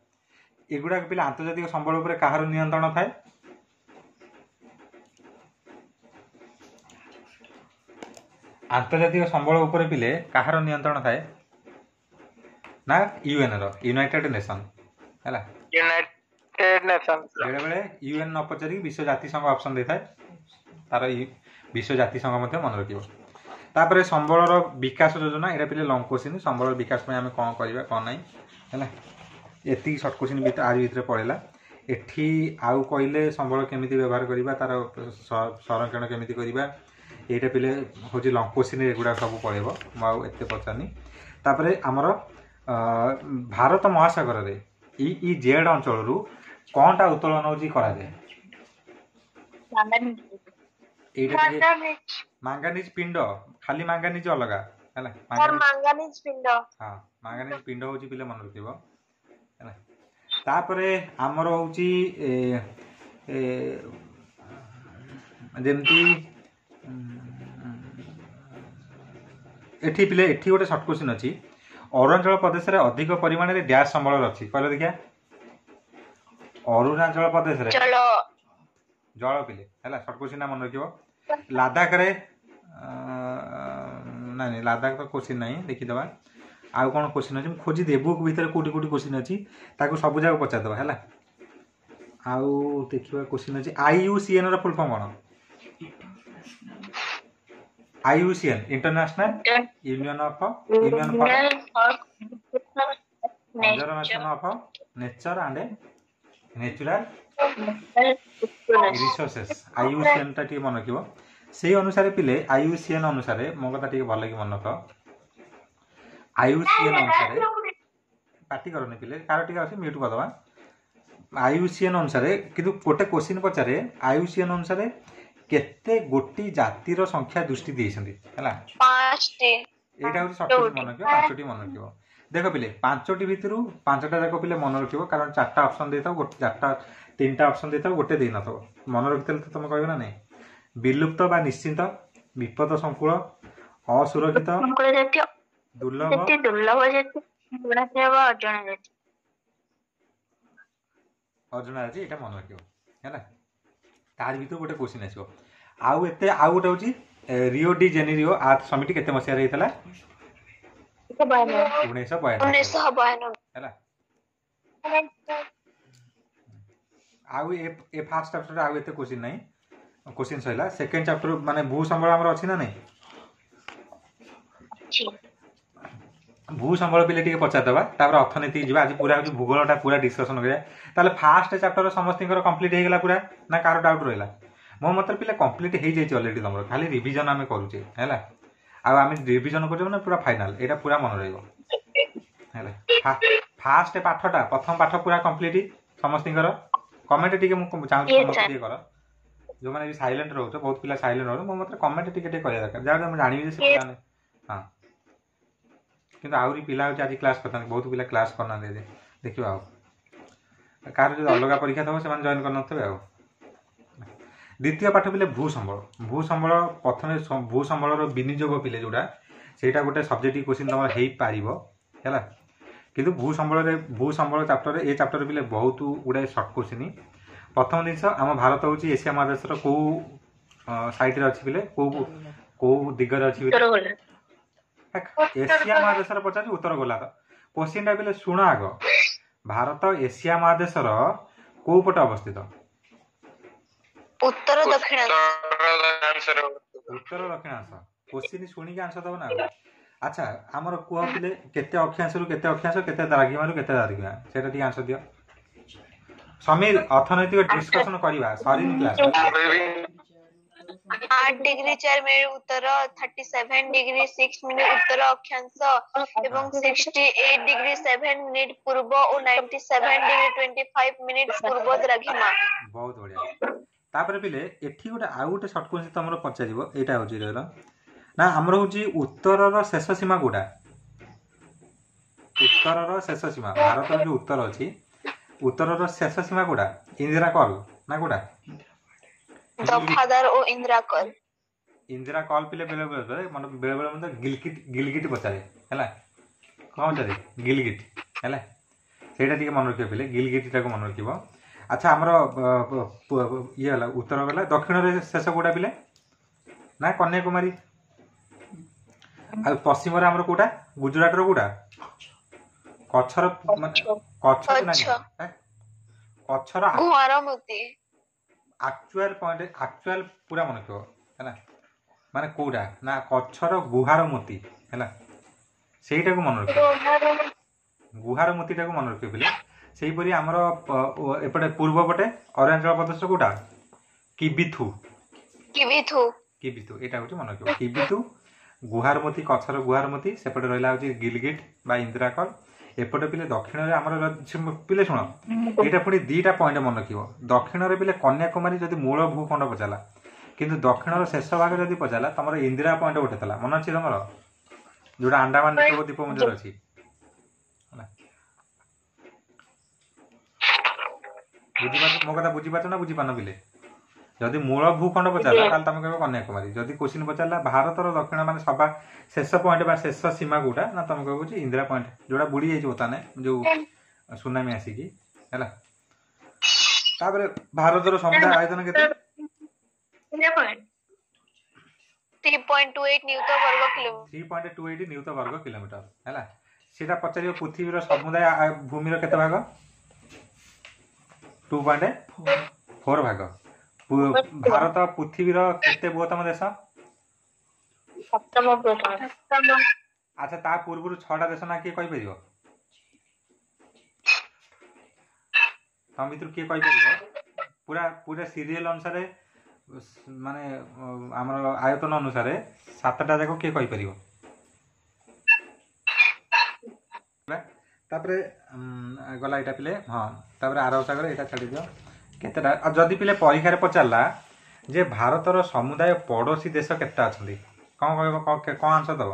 ଏଗୁଡ଼ାକ ପିଲା ଆନ୍ତର୍ଜାତିକ ସମ୍ବଳ ଉପରେ କାହାର ନିୟନ୍ତ୍ରଣ ଥାଏ? ଆନ୍ତର୍ଜାତିକ ସମ୍ବଳ ଉପରେ ପିଲେ କାହାର ନିୟନ୍ତ୍ରଣ ଥାଏ ନା ୟୁଏନ୍ ର, ୟୁନାଇଟେଡ୍ ନେସନ୍ ହେଲା। ବେଳେବେଳେ ୟୁଏନ୍ ନ ପଚାରିକି ବିଶ୍ୱ ଜାତିସଂଘ ଅପସନ୍ ଦେଇଥାଏ, ତାର ବିଶ୍ୱ ଜାତିସଂଘ ମଧ୍ୟ ମନେ ରଖିବ। ତାପରେ ସମ୍ବଳର ବିକାଶ ଯୋଜନା, ଏଇଟା ପିଲେ ଲଙ୍ଗ କ୍ୱେଶ୍ଚିନ୍। ସମ୍ବଳର ବିକାଶ ପାଇଁ ଆମେ କ'ଣ କରିବା କ'ଣ ନାହିଁ ହେଲା। ଏତିକି ସର୍ଟ କ୍ୱେଶ୍ଚିନ୍ ଆରି ଭିତରେ ପଳେଇଲା। ଏଠି ଆଉ କହିଲେ ସମ୍ବଳ କେମିତି ବ୍ୟବହାର କରିବା, ତାର ସଂରକ୍ଷଣ କେମିତି କରିବା, ଏଇଟା ପିଲେ ହେଉଛି ଲଙ୍ଗ କ୍ୱେଶ୍ଚିନ୍, ଏଗୁଡ଼ା ସବୁ ପଳେଇବ, ମୁଁ ଆଉ ଏତେ ପଚାରୁନି। ତାପରେ ଆମର ଭାରତ ମହାସାଗରରେ ଇଇଜେଡ୍ ଅଞ୍ଚଳରୁ କ'ଣଟା ଉତ୍ତୋଳନ ହେଉଛି କରାଯାଏ? ଏଇଟା ମାଙ୍ଗାନିଜ ପିଣ୍ଡ, ଖାଲି ମାଙ୍ଗାନିଜ ଅଲଗା ହେଲା। ମାଙ୍ଗାନିଜ ପିଣ୍ଡ, ହଁ ମାଙ୍ଗାନିଜ ପିଣ୍ଡ ହେଉଛି ପିଲେ ମନେ ରଖିବ ହେଲା। ତାପରେ ଆମର ହେଉଛି ଯେମିତି ଏଠି ପିଲେ ଏଠି ଗୋଟେ ସର୍ଟ କ୍ୱେଶ୍ଚିନ୍ ଅଛି। ଅରୁଣାଚଳ ପ୍ରଦେଶରେ ଅଧିକ ପରିମାଣରେ ଡ୍ୟାସ୍ ସମ୍ବଳ ଅଛି, କହିଲ ଦେଖିଆ? ଅରୁଣାଚଳ ପ୍ରଦେଶରେ ଜଳ ପିଲେ ହେଲା, ସର୍ଟ କ୍ୱେଶ୍ଚିନ୍ ମନେ ରଖିବ। ଲାଦାଖରେ ନାଇଁ ନାଇଁ ଲାଦାଖ ତ କ୍ୱେଶ୍ଚିନ୍ ନାହିଁ, ଦେଖିଦେବା ଆଉ କ'ଣ କ୍ୱେଶ୍ଚିନ୍ ଅଛି। ମୁଁ ଖୋଜିଦିଏ ବୁକ୍ ଭିତରେ କେଉଁଠି କେଉଁଠି କ୍ୱେଶ୍ଚିନ୍ ଅଛି, ତାକୁ ସବୁ ଯାକ ପଚାରିଦେବା ହେଲା। ଆଉ ଦେଖିବା କ୍ୱେଶ୍ଚିନ୍ ଅଛି। ଆଇୟୁସିଏନ୍ ର ଫୁଲ୍ ଫର୍ମ କ'ଣ? IUCN, international union of union for conservation of nature and natural resources, IUCN ଟା ଟିକେ ମନେ ରଖିବ। ସେଇ ଅନୁସାରେ ପିଲେ ଆଇୟୁସିଏନ୍ ଅନୁସାରେ ମୋ କଥା ଟିକେ ଭଲ କି ମନେ ରଖ। ଆଇୟୁସିଏନ୍ ଅନୁସାରେ ପାଟି କରନି ପିଲେ, କାହାର ଟିକେ ଅଛି ମ୍ୟୁଟ୍ କରିଦେବା। ଆଇୟୁସିଏନ୍ ଅନୁସାରେ କିନ୍ତୁ ଗୋଟେ କୋଶ୍ଚିନ୍ ପଚାରେ, ଆଇୟୁସିଏନ୍ ଅନୁସାରେ କେତେ ଗୋଟି ଜାତିର ସଂଖ୍ୟା ଦୃଷ୍ଟି ଦେଇଛନ୍ତି ହେଲା। ଏଇଟା ହେଉଛି ସର୍ଟ କ୍ୱେଶ୍ଚିନ୍ ମନେ ରଖିବ, 5ଟି ମନେ ରଖିବ। ଦେଖ ପିଲେ, ପାଞ୍ଚଟି ଭିତରୁ ପାଞ୍ଚଟା ଯାକ ପିଲେ ମନେ ରଖିବ, କାରଣ ଚାରିଟା ଅପସନ୍ ଦେଇଥାଉ, ଗୋଟେ ଚାରିଟା ତିନିଟା ଅପସନ୍ ଦେଇଥାଉ, ଗୋଟେ ଦେଇନଥିବ। ମନେ ରଖିଥିଲେ ତ ତମେ କହିବ ନା ନାଇଁ। ବିଲୁପ୍ତ ବା ନିଶ୍ଚିନ୍ତ, ବିପଦ ସଂକୁଳ, ଅସୁରକ୍ଷିତ, ସଂକୁଳ ଜାତୀୟ, ଦୁର୍ଲଭ, ଜାତି, ଦୁର୍ଲଭ ଜାତି, ଗୁଣାତ୍ମକ ବା ଅଜଣା ଜାତି। ଅଜଣା ଅଛି, ଏଇଟା ମନେ ରଖିବ ହେଲା। ତାରି ଭିତରୁ ଗୋଟେ କୋଶ୍ଚିନ୍ ଆସିବ। ଆଉ ଏତେ ଆଉ ଗୋଟେ ହେଉଛି Rio de Janeiro earth summit କେତେ ମସିହାରେ ହେଇଥିଲା? 1992। 1992। ହେଲା। ଆଉ ଏ ଫାର୍ଷ୍ଟ ଚାପ୍ଟରରେ ଆଉ ଏତେ କୋଶ୍ଚିନ୍ ନାହିଁ, କୋଶ୍ଚିନ୍ ସରିଲା। ସେକେଣ୍ଡ ଚାପ୍ଟର ମାନେ ଭୂ ସମ୍ବଳ ଆମର ଅଛି ନା ନାହିଁ? ଅଛି। ଭୂ ସମ୍ବଳ ପିଲେ ଟିକେ ପଚାରିଦେବା, ତାପରେ ଅର୍ଥନୀତି ଯିବା। ଆଜି ପୁରା ହେଉଛି ଭୂଗୋଳଟା ପୁରା ଡିସ୍କସନ୍ କରିବା। ତାହେଲେ ଫାର୍ଷ୍ଟ ଚାପ୍ଟର ସମସ୍ତଙ୍କର କମ୍ପ୍ଲିଟ୍ ହେଇଗଲା ପୁରା ନା କାହାର ଡାଉଟ୍ ରହିଲା? ମୋ ମତରେ ପିଲା କମ୍ପ୍ଲିଟ୍ ହେଇଯାଇଛି ଅଲରେଡ଼ି ତମର, ଖାଲି ରିଭିଜନ୍ ଆମେ କରୁଛେ ହେଲା। ଆଉ ଆମେ ରିଭିଜନ୍ କରୁଛେ ମାନେ ପୁରା ଫାଇନାଲ୍, ଏଇଟା ପୁରା ମନେ ରହିବ ହେଲା। ଫାର୍ଷ୍ଟ ପାଠଟା, ପ୍ରଥମ ପାଠ ପୁରା କମ୍ପ୍ଲିଟ୍ ସମସ୍ତଙ୍କର। କମେଣ୍ଟ ଟିକେ ମୁଁ ଚାହୁଁଛି Yes, ସମସ୍ତେ sir. ଟିକେ କର। ଯେଉଁମାନେ ବି ସାଇଲେଣ୍ଟ ରହୁଛ, ବହୁତ ପିଲା ସାଇଲେଣ୍ଟ ରହୁଛ, ମୋ ମତରେ କମେଣ୍ଟ ଟିକେ ଟିକେ କରିବା ଦରକାର, ଯାହା ମୁଁ ଜାଣିବି ଯେ ସେ ପିଲାମାନେ। ହଁ, କିନ୍ତୁ ଆହୁରି ପିଲା ହେଉଛି ଆଜି କ୍ଲାସ୍ କରିଥାନ୍ତି, ବହୁତ ପିଲା କ୍ଲାସ୍ କରିନାହାନ୍ତି ଆଜି। ଦେଖିବା ଆଉ କାହାର ଯଦି ଅଲଗା ପରୀକ୍ଷା ଥିବ ସେମାନେ ଜଏନ୍ କରିନଥିବେ। ଆଉ ଦ୍ୱିତୀୟ ପାଠ ପିଲେ ଭୂ ସମ୍ବଳ। ଭୂ ସମ୍ବଳ ପ୍ରଥମେ ଭୂ ସମ୍ବଳର ବିନିଯୋଗ ପିଲେ ଯେଉଁଟା, ସେଇଟା ଗୋଟେ ସବଜେକ୍ଟିଭ କୋଶ୍ଚିନ୍ ତମର ହେଇପାରିବ ହେଲା। କିନ୍ତୁ ଭୂ ସମ୍ବଳରେ, ଭୂ ସମ୍ବଳ ଚାପ୍ଟରରେ, ଏ ଚାପ୍ଟରରେ ପିଲେ ବହୁତ ଗୁଡ଼ାଏ ସର୍ଟ କୋଶ୍ଚିନ୍। ପ୍ରଥମ ଜିନିଷ, ଆମ ଭାରତ ହେଉଛି ଏସିଆ ମହାଦେଶର କେଉଁ ସାଇଡ଼ରେ ଅଛି ପିଲେ? କେଉଁ କେଉଁ ଦିଗରେ ଅଛି ପିଲେ? ଉତ୍ତର ଗୋଲା। ଏସିଆ ମହାଦେଶର ପଚାରୁଛି, ଉତ୍ତର ଗୋଲାର୍ଦ୍ଧ। କୋଶ୍ଚିନ୍ଟା ପିଲେ ଶୁଣ ଆଗ, ଭାରତ ଏସିଆ ମହାଦେଶର କୋଉ ପଟେ ଅବସ୍ଥିତ? ଉତ୍ତର ଦକ୍ଷିଣାଂଶ। ଉତ୍ତର ଦକ୍ଷିଣାଂଶ। କୋଶ୍ଚିନ୍ ଶୁଣିକି ଆନ୍ସର ଦବ ନା ଆଉ। ଆଚ୍ଛା, ଆମର କୁହ ପିଲେ, କେତେ ଅକ୍ଷାଂଶରୁ କେତେ ଅକ୍ଷାଂଶ, କେତେ ଦ୍ରାଘିମାରୁ କେତେ ଦ୍ରାଘିମା, ସେଇଟା ଟିକେ ଆନ୍ସର ଦିଅ। ସମୀର, ଅର୍ଥନୈତିକ ଡିସ୍କସନ କରିବା, ସରିନି କ୍ଲାସ୍। 8 ଡିଗ୍ରୀ 4 ମିନିଟ ଉତ୍ତର, 37 ଡିଗ୍ରୀ 6 ମିନିଟ ଉତ୍ତର ଅକ୍ଷାଂଶ ଏବଂ 68 ଡିଗ୍ରୀ 7 ମିନିଟ ପୂର୍ବ ଓ 97 ଡିଗ୍ରୀ 25 ମିନିଟ ପୂର୍ବ ଦ୍ରାଘିମା। ବହୁତ ବଢିଆ। ତାପରେ ପିଲେ ଏଠି ଗୋଟେ ଆଉ ଗୋଟେ ସର୍ଟ କୋଶ୍ଚିନ୍ ତମର ପଚାରିବ, ଏଇଟା ହେଉଛି ରହିଲ ନା ଆମର ହେଉଛି ଉତ୍ତରର ଶେଷ ସୀମା କୋଉଟା? ଉତ୍ତରର ଶେଷ ସୀମା, ଭାରତର ଯୋଉ ଉତ୍ତର ଅଛି, ଉତ୍ତରର ଶେଷ ସୀମା କୋଉଟା? ଇନ୍ଦିରା କଲ୍ ନା କୋଉଟା? ଦଫାଦାର ଓ ଇନ୍ଦିରା କଲ୍। ଇନ୍ଦିରା କଲ୍ ପିଲେ ବେଳେ ବେଳେ ମାନେ ବେଳେ ବେଳେ ମଧ୍ୟ ଗିଲଗିଟ, ଗିଲଗିଟ ପଚାରେ ହେଲା। କଣ ପଚାରେ? ଗିଲଗିଟ ହେଲା। ସେଇଟା ଟିକେ ମନେ ରଖିବ ପିଲେ, ଗିଲଗିଟଟାକୁ ମନେ ରଖିବ। ଆଚ୍ଛା, ଆମର ଇଏ ହେଲା ଉତ୍ତର ଗଲା, ଦକ୍ଷିଣରେ ଶେଷ କୋଉଟା ପିଲେ? ନା କନ୍ୟାକୁମାରୀ। ଆଉ ପଶ୍ଚିମରେ ଆମର କୋଉଟା? ଗୁଜୁରାଟର କୋଉଟା? କଚ୍ଛର, ମାନେ କଚ୍ଛ ନାହିଁ, କଚ୍ଛର ଗୁଆରମତି। ଆକ୍ଚୁଆଲ ପଏଣ୍ଟ, ଆକ୍ଚୁଆଲ ପୁରା ମନେ ରଖିବ ହେଲା। ମାନେ କୋଉଟା ନା କଚ୍ଛର ଗୁହାର ମୋତି ହେଲା, ସେଇଟାକୁ ମନେ ରଖିବ, ଗୁହାର ମୋତିଟାକୁ ମନେ ରଖିବ ପିଲେ। ସେଇପରି ଆମର ଏପଟେ ପୂର୍ବ ପଟେ ଅରୁଣାଚଳ ପ୍ରଦେଶ କୋଉଟା? କିବିଥୁ। କିବିଥୁ। କିବିଥୁ, ଏଇଟା ହଉଛି ମନେ ରଖିବ, କିବିଥୁ, ଗୁହାରମତି, କଚ୍ଛର ଗୁହାରମତି। ସେପଟେ ରହିଲା ହଉଛି ଗିଲଗିଟ ବା ଇନ୍ଦିରାକଲ। ଏପଟେ ପିଲେ ଦକ୍ଷିଣରେ ଆମର ପିଲେ ଶୁଣ, ଏଇଟା ପୁଣି ଦିଟା ପଏଣ୍ଟ ମନେ ରଖିବ। ଦକ୍ଷିଣରେ ପିଲେ କନ୍ୟାକୁମାରୀ ଯଦି ମୂଳ ଭୂଖଣ୍ଡ ପଚାରିଲା, କିନ୍ତୁ ଦକ୍ଷିଣର ଶେଷ ଭାଗ ଯଦି ପଚାରିଲା, ତମର ଇନ୍ଦିରା ପଏଣ୍ଟ ଗୋଟେ ଥିଲା, ମନେ ଅଛି ତମର, ଯୋଉଟା ଆଣ୍ଡାମାନ ନିକୋବର ଦ୍ୱୀପପୁଞ୍ଜରେ ଅଛି ହେଲା। ବୁଝିପାରୁଛ ମୋ କଥା? ବୁଝିପାରୁଛ ନା ବୁଝିପାରୁନ ପିଲେ? ଯଦି ମୂଳ ଭୂଖଣ୍ଡ ପଚାରିଲା ତାହେଲେ ତମେ କହିବ କନ୍ୟାକୁମାରୀ। ଯଦି କୋଶ୍ଚିନ୍ ପଚାରିଲା ଭାରତର ଦକ୍ଷିଣ ମାନେ ସବା ଶେଷ ପଏଣ୍ଟ ବା ଶେଷ ସୀମା କୋଉଟା, ନା ତମେ କହିବ ଯେ ଇନ୍ଦିରା ପଏଣ୍ଟ, ଯୋଉଟା ବୁଡି ଯାଇଛି ବର୍ତ୍ତମାନ ଯୋଉ ସୁନାମି ଆସିକି ହେଲା। ତାପରେ ଭାରତର ସମୁଦାୟ ଆୟତନ କେତେ? 3.28 ନିୟୁତ ବର୍ଗ କିଲୋମିଟର। 3.28 ନିୟୁତ ବର୍ଗ କିଲୋମିଟର ହେଲା। ସେଇଟା ପଚାରିବ ପୃଥିବୀର ସମୁଦାୟ ଭୂମିର କେତେ ଭାଗ? 2.4 ଭାଗ। ଭାରତ ପୃଥିବୀର କେତେ ବୃହତ୍ତମ ଦେଶ? ସପ୍ତମ ବୃହତ୍ତମ। ଆଚ୍ଛା, ତା ପୂର୍ବରୁ 6ଟା ଦେଶ ନା କିଏ କହିପାରିବ? ତମ ଭିତରୁ କିଏ କହିପାରିବ? ପୁରା ପୁରା ସିରିଏଲ ଅନୁସାରେ, ମାନେ ଆମର ଆୟତନ ଅନୁସାରେ 7ଟା ଯାକ କିଏ କହିପାରିବ? ତାପରେ ଗଲା ଏଇଟା ପିଲେ। ହଁ, ତାପରେ ଆରବ ସାଗର ଏଇଟା ଛାଡ଼ିଦିଅ। କେତେଟା? ଆଉ ଯଦି ପିଲେ ପରୀକ୍ଷାରେ ପଚାରିଲା ଯେ ଭାରତର ସମୁଦାୟ ପଡ଼ୋଶୀ ଦେଶ କେତେଟା ଅଛନ୍ତି, କଣ କହିବ? କଣ ଆନ୍ସର ଦବ?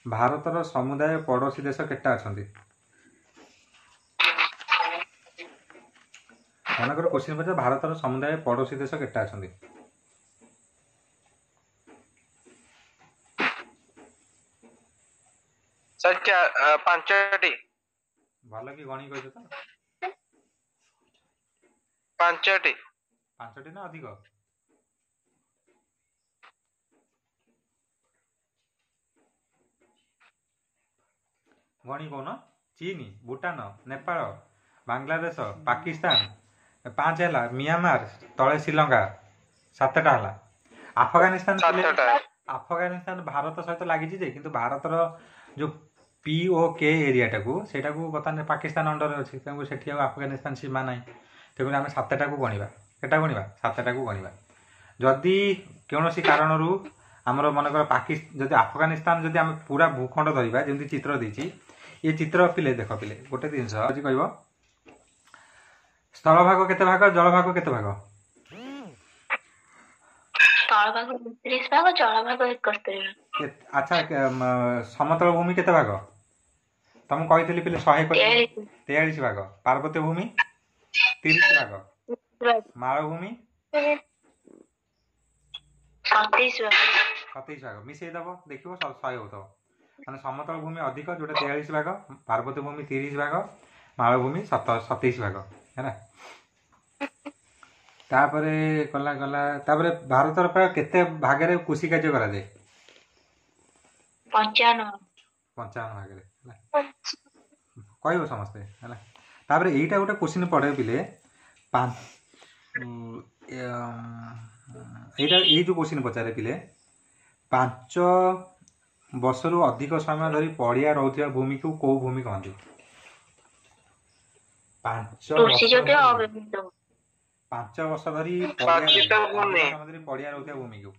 ଭାରତର ସମୁଦାୟ ପଡ଼ୋଶୀ ଦେଶ କେତେଟା ଅଛନ୍ତି? ମନେକର କୋଶ୍ଚିନ୍ ପଚାର, ଭାରତର ସମୁଦାୟ ପଡ଼ୋଶୀ ଦେଶ କେତେଟା ଅଛନ୍ତି? ସାର୍, 5ଟି। ଭଲ କି ଗଣି କହିଛ ତ? 5ଟି। 5ଟି ନା ଅଧିକ? ଗଣି କହୁନ। ଚୀନ, ଭୁଟାନ, ନେପାଳ, ବାଂଲାଦେଶ, ପାକିସ୍ତାନ, 5 ହେଲା। ମିଆଁମାର, ତଳେ ଶ୍ରୀଲଙ୍କା, 7ଟା ହେଲା। ଆଫଗାନିସ୍ତାନ, 7ଟା। ଆଫଗାନିସ୍ତାନ ଭାରତ ସହିତ ଲାଗିଛି ଯେ, କିନ୍ତୁ ଭାରତର ଯୋଉ POK ଏରିଆଟାକୁ, ସେଇଟାକୁ ବର୍ତ୍ତମାନ ପାକିସ୍ତାନ ଅଣ୍ଡରରେ ଅଛି, ତେଣୁ ସେଠି ଆଉ ଆଫଗାନିସ୍ତାନ ସୀମା ନାହିଁ। ତେଣୁ ଆମେ 7ଟାକୁ ଗଣିବା। କେଟା ଗଣିବା? 7ଟାକୁ ଗଣିବା। ଯଦି କୌଣସି କାରଣରୁ ଆମର ମନେକର ଯଦି ଆଫଗାନିସ୍ତାନ, ଯଦି ଆମେ ପୁରା ଭୂଖଣ୍ଡ ଧରିବା, ଯେମିତି ଚିତ୍ର ଦେଇଛି, ଏ ଚିତ୍ର ପିଲେ ଦେଖ ପିଲେ, ଗୋଟେ ଜିନିଷ ଅଛି କହିବ, ସ୍ଥଳଭାଗ କେତେ ଭାଗ, ଜଳଭାଗ କେତେ ଭାଗ? ସ୍ଥଳଭାଗ 29 ଭାଗ, ଜଳଭାଗ 71 ଭାଗ। ଆଚ୍ଛା, ସମତଳ ଭୂମି କେତେ ଭାଗ? ତମକୁ କହିଥିଲି ପିଲେ, 100 43। 43 ଭାଗ। ପାର୍ବତ୍ୟ ଭୂମି 30 ଭାଗ। ମାଳଭୂମି? 27 ଭାଗ। 27 ଭାଗ। ମିଶେଇ ଦବ, ଦେଖିବ 100 ହଉଥିବ। ମାନେ ସମତଳ ଭୂମି ଅଧିକ, ଯୋଉଟା 43 ଭାଗ, ପାର୍ବତ୍ୟ ଭୂମି 30 ଭାଗ, ମାଳଭୂମି 27 ଭାଗ ହେଲା। ତାପରେ ଗଲା ଗଲା, ତାପରେ ଭାରତର ପ୍ରାୟ କେତେ ଭାଗରେ କୃଷି କାର୍ଯ୍ୟ କରାଯାଏ? 55। 55 ଭାଗରେ ହେଲା, କହିବ ସମସ୍ତେ ହେଲା। ତାପରେ ଏଇଟା ଗୋଟେ କୋଶ୍ଚିନ୍ ପଡ଼େ ପିଲେ, ଏଇଟା ଏଇ ଯୋଉ କୋଶ୍ଚିନ୍ ପଚାରେ ପିଲେ, 5 ବର୍ଷରୁ ଅଧିକ ସମୟ ଧରି ପଡ଼ିଆ ରହୁଥିବା ଭୂମିକୁ କୋଉ ଭୂମି କହନ୍ତି? 5 ବର୍ଷ କୃଷିଯୋଗ୍ୟ ଧରି ଅବ୍ୟବହୃତ। 5 ବର୍ଷ ଧରି ପଡ଼ିଆ ପତିତ ରହିବ, ଭୂମି। ଅଧିକ ସମୟ ଧରି ପଡ଼ିଆ ରହୁଥିବା ଭୂମିକୁ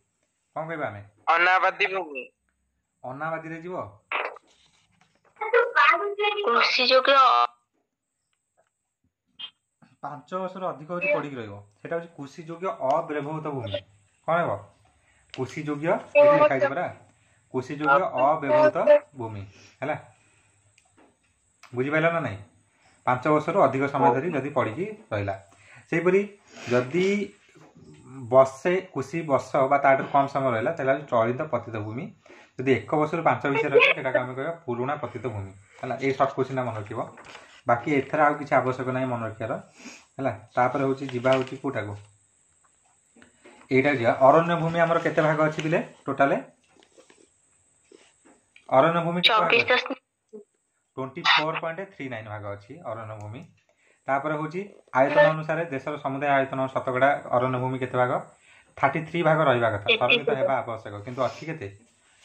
କଣ କହିବା ଆମେ? ଅନାବାଦୀ ଭୂମି। ଅନାବାଦୀରେ ଯିବ? କୃଷିଯୋଗ୍ୟ 5 ବର୍ଷରୁ ଅଧିକ ହଉଛି ପଡ଼ିକି ରହିବ, ସେଟା ହଉଛି କୃଷି ଯୋଗ୍ୟ ଅବ୍ୟବହୃତ ଭୂମି। କଣ ହେବ? କୃଷି ଯୋଗ୍ୟ, ଏଠି ଲେଖା ହେଇଛି ପରା, କୃଷି ଯୋଗ୍ୟ ଅବ୍ୟବହୃତ ଭୂମି ହେଲା। ବୁଝିପାରିଲ ନା ନାଇଁ? 5 ବର୍ଷରୁ ଅଧିକ ସମୟ ଧରି ଯଦି ପଡ଼ିକି ରହିଲା। ସେହିପରି ଯଦି ବର୍ଷେ କୃଷି ବର୍ଷ ବା ତାଠାରୁ କମ୍ ସମୟ ରହିଲା, ତାହେଲେ ହଉଛି ଚଳିତ ପତିତ ଭୂମି। ଯଦି 1 ବର୍ଷରୁ 5 ଭିତରେ ରହିଲା, ସେଟାକୁ ଆମେ କହିବା ପୁରୁଣା ପତିତ ଭୂମି ହେଲା। ଏଇ ସର୍ଟ କୋଶ୍ଚିନ୍ଟା ମନେ ରଖିବ, ବାକି ଏଥିରେ ଆଉ କିଛି ଆବଶ୍ୟକ ନାହିଁ ମନେ ରଖିବାର ହେଲା। ତାପରେ ହଉଛି ଯିବା ହଉଛି କୋଉଟାକୁ, ଏଇଟା ଯିବା। ଅରଣ୍ୟ ଭୂମି ଆମର କେତେ ଭାଗ ଅଛି ପିଲେ? ଟୋଟାଲେ ଅରଣ୍ୟ ଭୂମି କେତେ ଭାଗ 24 ଅଛି? ଦଶମିକ 24.39 ଭାଗ ଅଛି ଅରଣ୍ୟ ଭୂମି। ତାପରେ ହଉଛି ଆୟତନ ଅନୁସାରେ ଦେଶର ସମୁଦାୟ ଆୟତନ ଶତକଡ଼ା ଅରଣ୍ୟ ଭୂମି କେତେ ଭାଗ? 33 ଭାଗ ରହିବା କଥା, ସଂରକ୍ଷିତ 33 ହେବା ଆବଶ୍ୟକ, କିନ୍ତୁ ଅଛି କେତେ?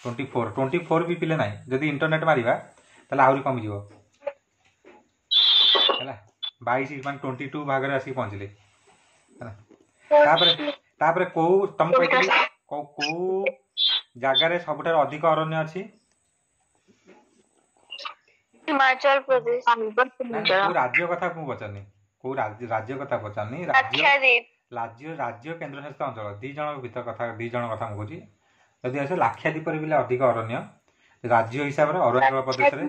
24। 24 ବି ପିଲେ ନାହିଁ। ଯଦି ଇଣ୍ଟରନେଟ୍ ମାରିବା ତାହେଲେ ଆହୁରି କମିଯିବ ହେଲା, 22 ମାନେ 22 ଭାଗରେ ଆସିକି ପହଞ୍ଚିଲେ ହେଲା। ତାପରେ ତାପରେ କୋଉ ତମକୁ କହିଥିଲି କୋଉ କୋଉ ଜାଗାରେ ସବୁଠାରୁ ଅଧିକ ଅରଣ୍ୟ ଅଛି? ହିମାଚଳ ପ୍ରଦେଶ। ନାଇଁ ନାଇଁ, କୋଉ ରାଜ୍ୟ କଥା ମୁଁ ପଚାରୁନି, କୋଉ ରାଜ୍ୟ କଥା ପଚାରୁନି, ରାଜ୍ୟ ଲାକ୍ଷାଦ୍ୱୀପ। ରାଜ୍ୟ ରାଜ୍ୟ କେନ୍ଦ୍ରଶାସିତ ଅଞ୍ଚଳ ଦି ଜଣଙ୍କ ଭିତର କଥା, ଦି ଜଣ କଥା ମୁଁ କହୁଛି। ଯଦି ଆସେ ଲାକ୍ଷାଦ୍ୱୀପରେ ବି ଅଧିକ ଅରଣ୍ୟ, ରାଜ୍ୟ ହିସାବରେ ଅରୁଣାଚଳ ପ୍ରଦେଶରେ,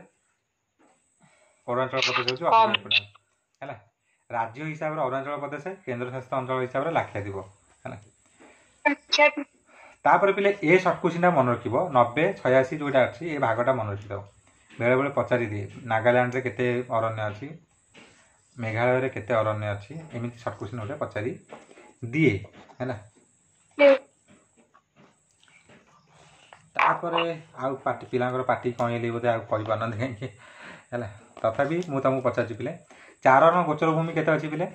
ଅରୁଣାଚଳ ପ୍ରଦେଶ ହେଉଛି ଅଧିକ କମ୍ ଇମ୍ପୋର୍ଟାଣ୍ଟ ହେଲା। ରାଜ୍ୟ ହିସାବରେ ଅରୁଣାଚଳ ପ୍ରଦେଶ, କେନ୍ଦ୍ରଶାସିତ ଅଞ୍ଚଳ ହିସାବରେ ଲାକ୍ଷାଦ୍ୱୀପ ହେଲା। ତାପରେ ପିଲେ ଏ ସର୍ଟ କୋଶ୍ଚିନ୍ଟା ମନେ ରଖିବ, 90 86 ଯୋଉଟା ଅଛି ଏ ଭାଗଟା ମନେ ରଖିଦେବ। ବେଳେବେଳେ ପଚାରି ଦିଏ, ନାଗାଲ୍ୟାଣ୍ଡରେ କେତେ ଅରଣ୍ୟ ଅଛି, ମେଘାଳୟରେ କେତେ ଅରଣ୍ୟ ଅଛି, ଏମିତି ସର୍ଟ କୋଶ୍ଚିନ୍ ଗୋଟେ ପଚାରି ଦିଏ ହେଲା। ତାପରେ ଆଉ ପାଟି ପିଲାଙ୍କର ପାଟି କଣେଇଲି ବୋଧେ, ଆଉ କହିପାରୁନାହାନ୍ତି କାହିଁକି ହେଲା। ତଥାପି ମୁଁ ତମକୁ ପଚାରୁଛି ପିଲେ, ଚାରଣ ଗୋଚର ଭୂମି କେତେ ଅଛି ପିଲେ?